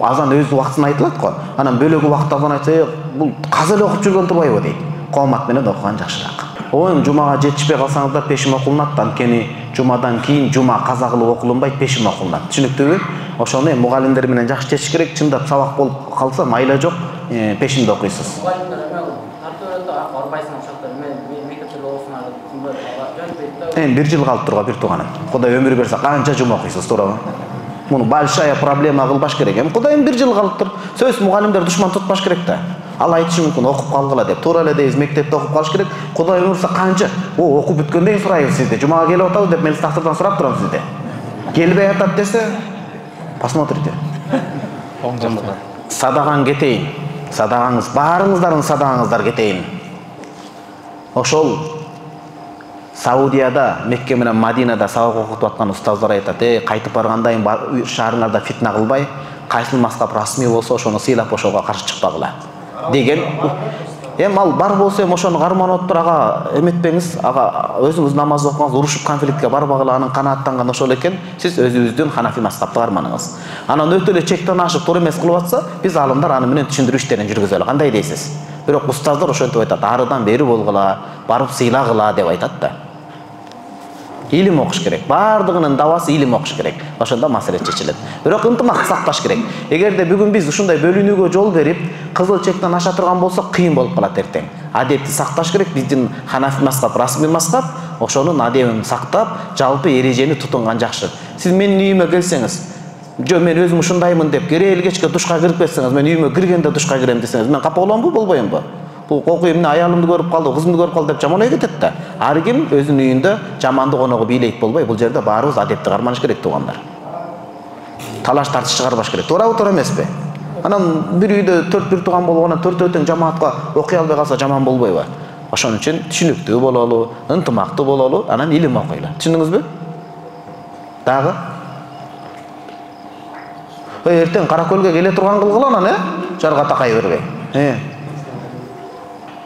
азан өз убактысында айтылат го. Анан бөлөк убакытта азан айтса, бул каза эле окуп жүргөн турбайбы дейт. Коомат менен окуган жакшыраак. Эми жумага жетишпей калсаңыздар пешим окулунат, анткени жумадан кийин жума каза кылып окулунбайт, пешим окулунат. Түшүнүктүүбү? Ошону мугалимдер менен жакшы чечиш керек. Чындап сабак болуп калса, майла жок, пешимде окуйсуз. Бир жыл калып турга бир тууганым. Кудай өмүр берсе, канча жума окуйсуз, туурабы? Муну большая проблема кылбаш керек. Эми Кудайым бир жыл калыптыр. Сөз мугалимдер душман тутпаш керек да. Ал айтышы мүмкүн, окуп калгыла деп. Туура эле дейбиз, мектепте окуп калыш керек. Кудай берсе канча? Окуп бүткөндөн кийин сурайбыз сизде. Жумага келип атабыз деп мен тактырдан сурап турам сизде. келбей атат десе, посмотрите. Садаган кетейин. Садагаңыз, баарыңыздардын садагаңыздар кетейин. Ошол Саудияда, Мекке менен Мадинада сабак окутуп аткан устаздар айтат: кайтып баргандайын шаарыңарда фитна кылбай, кайсыл мазхаб расмий болсо ошону сыйлап ошого каршы чыкпагыла деген. Ал бар болсо ошону карманып отур, ага эметпеңиз, ага өзүңүз намаз окуңуз, урушуп конфликтке барбагыла, анын канааттанган ошол экен, сиз өзүңүздүн ханафи мазхабты карманыңыз. Анан өтө эле чектен ашып туура эмес кылып атса, биз алымдар аны менен түшүндүрүү иштерин жүргүзөлү. Кандай дейсиз? Бирок устаздар ошентип айтат: арыдан бери болгула, барып сыйлагыла деп айтат да. Илим окуш керек. Бардыгынын дабасы илим окуш керек. Ошондо маселе чечилет. Бирок ынтымак сакташ керек. Эгерде бүгүн биз ушундай бөлүнүүгө жол берип, кызыл чектен аша турган болсок, кыйын болуп калат эртең. Адепти сакташ керек. Биздин ханафи мазхаб, расмий мазхаб, ошонун адебин сактап, жалпы эрежени тутунган жакшы. Сиз менин үйүмө келсеңиз, жо мен өзүм ушундаймын деп, керели кечке душка кирип кетсеңиз, мен үйүмө киргенде душка кирем десеңиз, мен капа боломбу, болбоймбу? Бул кокуй эмне аялымды көрүп калды, кызымды көрүп калды деп жаман ой кетет да. Ар ким өзүнүн үйүндө жамандык оногу бийлейт болбой, бул жерде баарыбыз адепти карманыш керек туугандар. Талаш тартыш чыгарбаш керек. Туурабы, туура эмеспи? Анан бир үйдө 4 тууган болгондон 4 тең жамаатка окуй албай калса жаман болбойбу? Ошон үчүн түшүнүктүү бололу, ынтымактуу бололу, анан илим окуйлу. Түшүндүңүзбү? Дагы? Эртең Каракөлгө келе турган кылгыла анан, жарга такай бербей.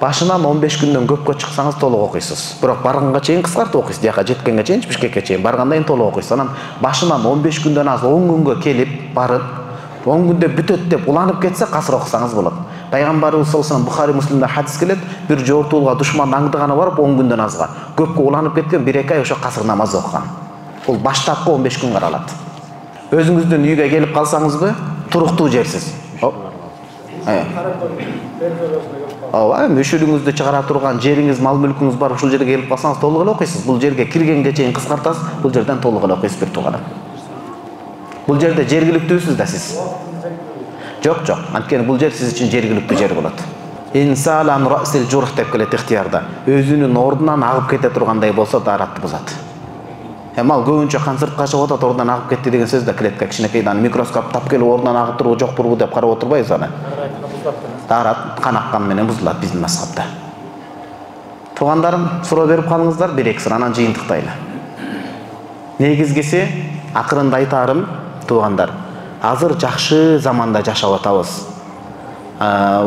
Башынан 15 күндөн көпкө чыксаңыз толук окуйсуз. Бирок барганга чейин кыскартып окуйсуз. Дияка жеткенге чейин, Бишкекке чейин баргандан кийин толук окуйсуз. Анан башынан 15 күндөн аз 10 күнгө келип барып, 10 күндө бүтөт деп уланып кетсе, касыр окусаңыз болот. Пайгамбарыбыз саллаллаху алейхи вассалам Бухари Муслимде хадис келет: бир жортуулга душмандын аңдыганы барып 10 күндөн азга, көпкө уланып кеткен 1-2 ай ошо касыр намаз окуган. Бул баштапкы 15 күн каралат. Өзүңүздүн үйгө келип калсаңызбы, туруктуу жерсиз. Мөшүрүңүздү чыгара турган жериңиз, мал мүлкүңүз бар, ушул жерге келип калсаңыз толук эле окуйсуз. Бул жерге киргенге чейин кыскартасыз, бул жерден толук эле окуйсуз бир туугандар. Бул жерде жергиликтүүсүз да сиз. Жок, анткени бул жер сиз үчүн жергиликтүү жер болот. Инсалан расил журх деп келет ихтиярда. Өзүнүн ордунан агып кете тургандай болсо даратты бузат. Ал көбүнчө концертке чыгып атат, ордунан агып кетти деген сөз да клетка кичинекей, аны микроскоп тап келип ордунан агып турбу, жок турбу деп карап отурбайбыз аны. Дарат канаккан менен бузулат биздин мазхабта. Туугандарым, суроо берип калыңыздар, 1-2 сура, анан жыйынтыктайлы. Негизгиси, акырында айтарым, туугандар, азыр жакшы заманда жашап атабыз.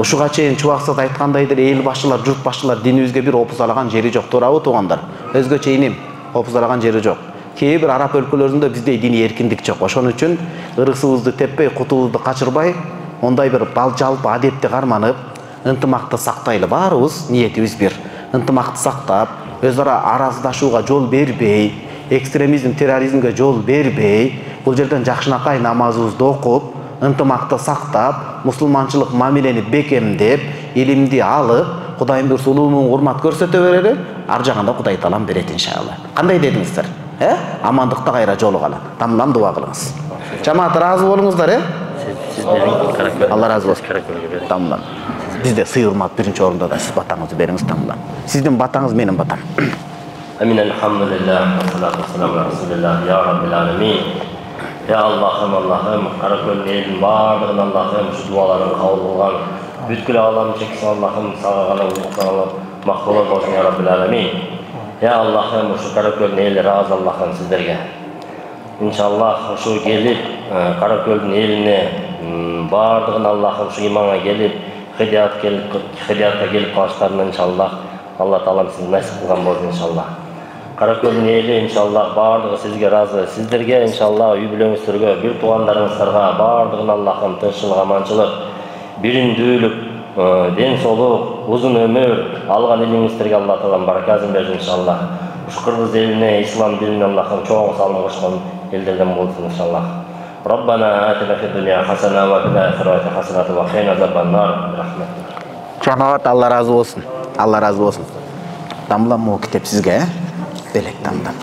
Ушуга чейин чубаксыз айткандайдыр, эл башчылар, журт башчылар динибизге бир опузалаган жери жок, туурабы туугандар? Өзгөчө иним, опузалаган жери жок. Кээ бир араб өлкөлөрүндө биздей диний эркиндик жок. Ошон үчүн ырысыбызды теппей, кутубузду качырбай, ондай бир жалпы адепти карманып, ынтымакты сактайлы. Баарыбыз ниетибиз бир. Ынтымакты сактап, өз ара араздашууга жол бербей, экстремизм, терроризмге жол бербей, бул жерден жакшынакай намазыбызды окуп, ынтымакты сактап, мусулманчылык мамилени бекемдеп, илимди алып, Кудайым буйрса улуу урмат көрсөтө берели, ар жагында Кудай таалам берет иншалла. Кандай дедиңиздер? Амандыкта кайра жолугалы. Тамдан дуа кылыңыз. Жамаат ыраазы болуңуздар, Алла разы болсун. Тамдан. Бизде сый урмат биринчи орунда да, сиз батаңызды бериңиз тамдан. Сиздин батаңыз менин батам. Амин, алхамдулиллах, салату вассаламу аля расулиллах, я раббил аламин. Ya Allah'ım, Karaköl'ün elin bardığın Allah'ım, şu duaların kabul kılgan, bütkül ağlam çeksin Allah'ım, sağağına uzaklarına mahvolak olsun ya Rabbil Alemin. Ya Allah'ım, şu Karaköl'ün eli razı Allah'ım sizlerge. İnşallah şu gelip, Karaköl'ün eline bardığın Allah'ım şu imana gelip, hidayatta gelip kaçlarına inşallah, Allah Teala sizi nasip kılgan olsun inşallah. Karaköl'ün eli inşallah bardығы sizge razı, sizlerge inşallah үй бүлөңүздөргө, bir тугандарыңыздарга бардығын Allah'ım тынччылык, аманчылык, биримдүүлүк, ден соолук, узун өмүр алган элиңиздерге Алла Таалам баракасын берсин иншалlah. Ушу кыргыз элине, ислам динине Аллахым чоң салым кошкон элдерден болсун иншалlah. Rabbana atina fid dunya hasana wa fil akhirati hasanatan wa qina azabannar. Жамаат, Алла разы болсун. Алла разы болсун. Тамлам могу китеп сизге, белек тамдан.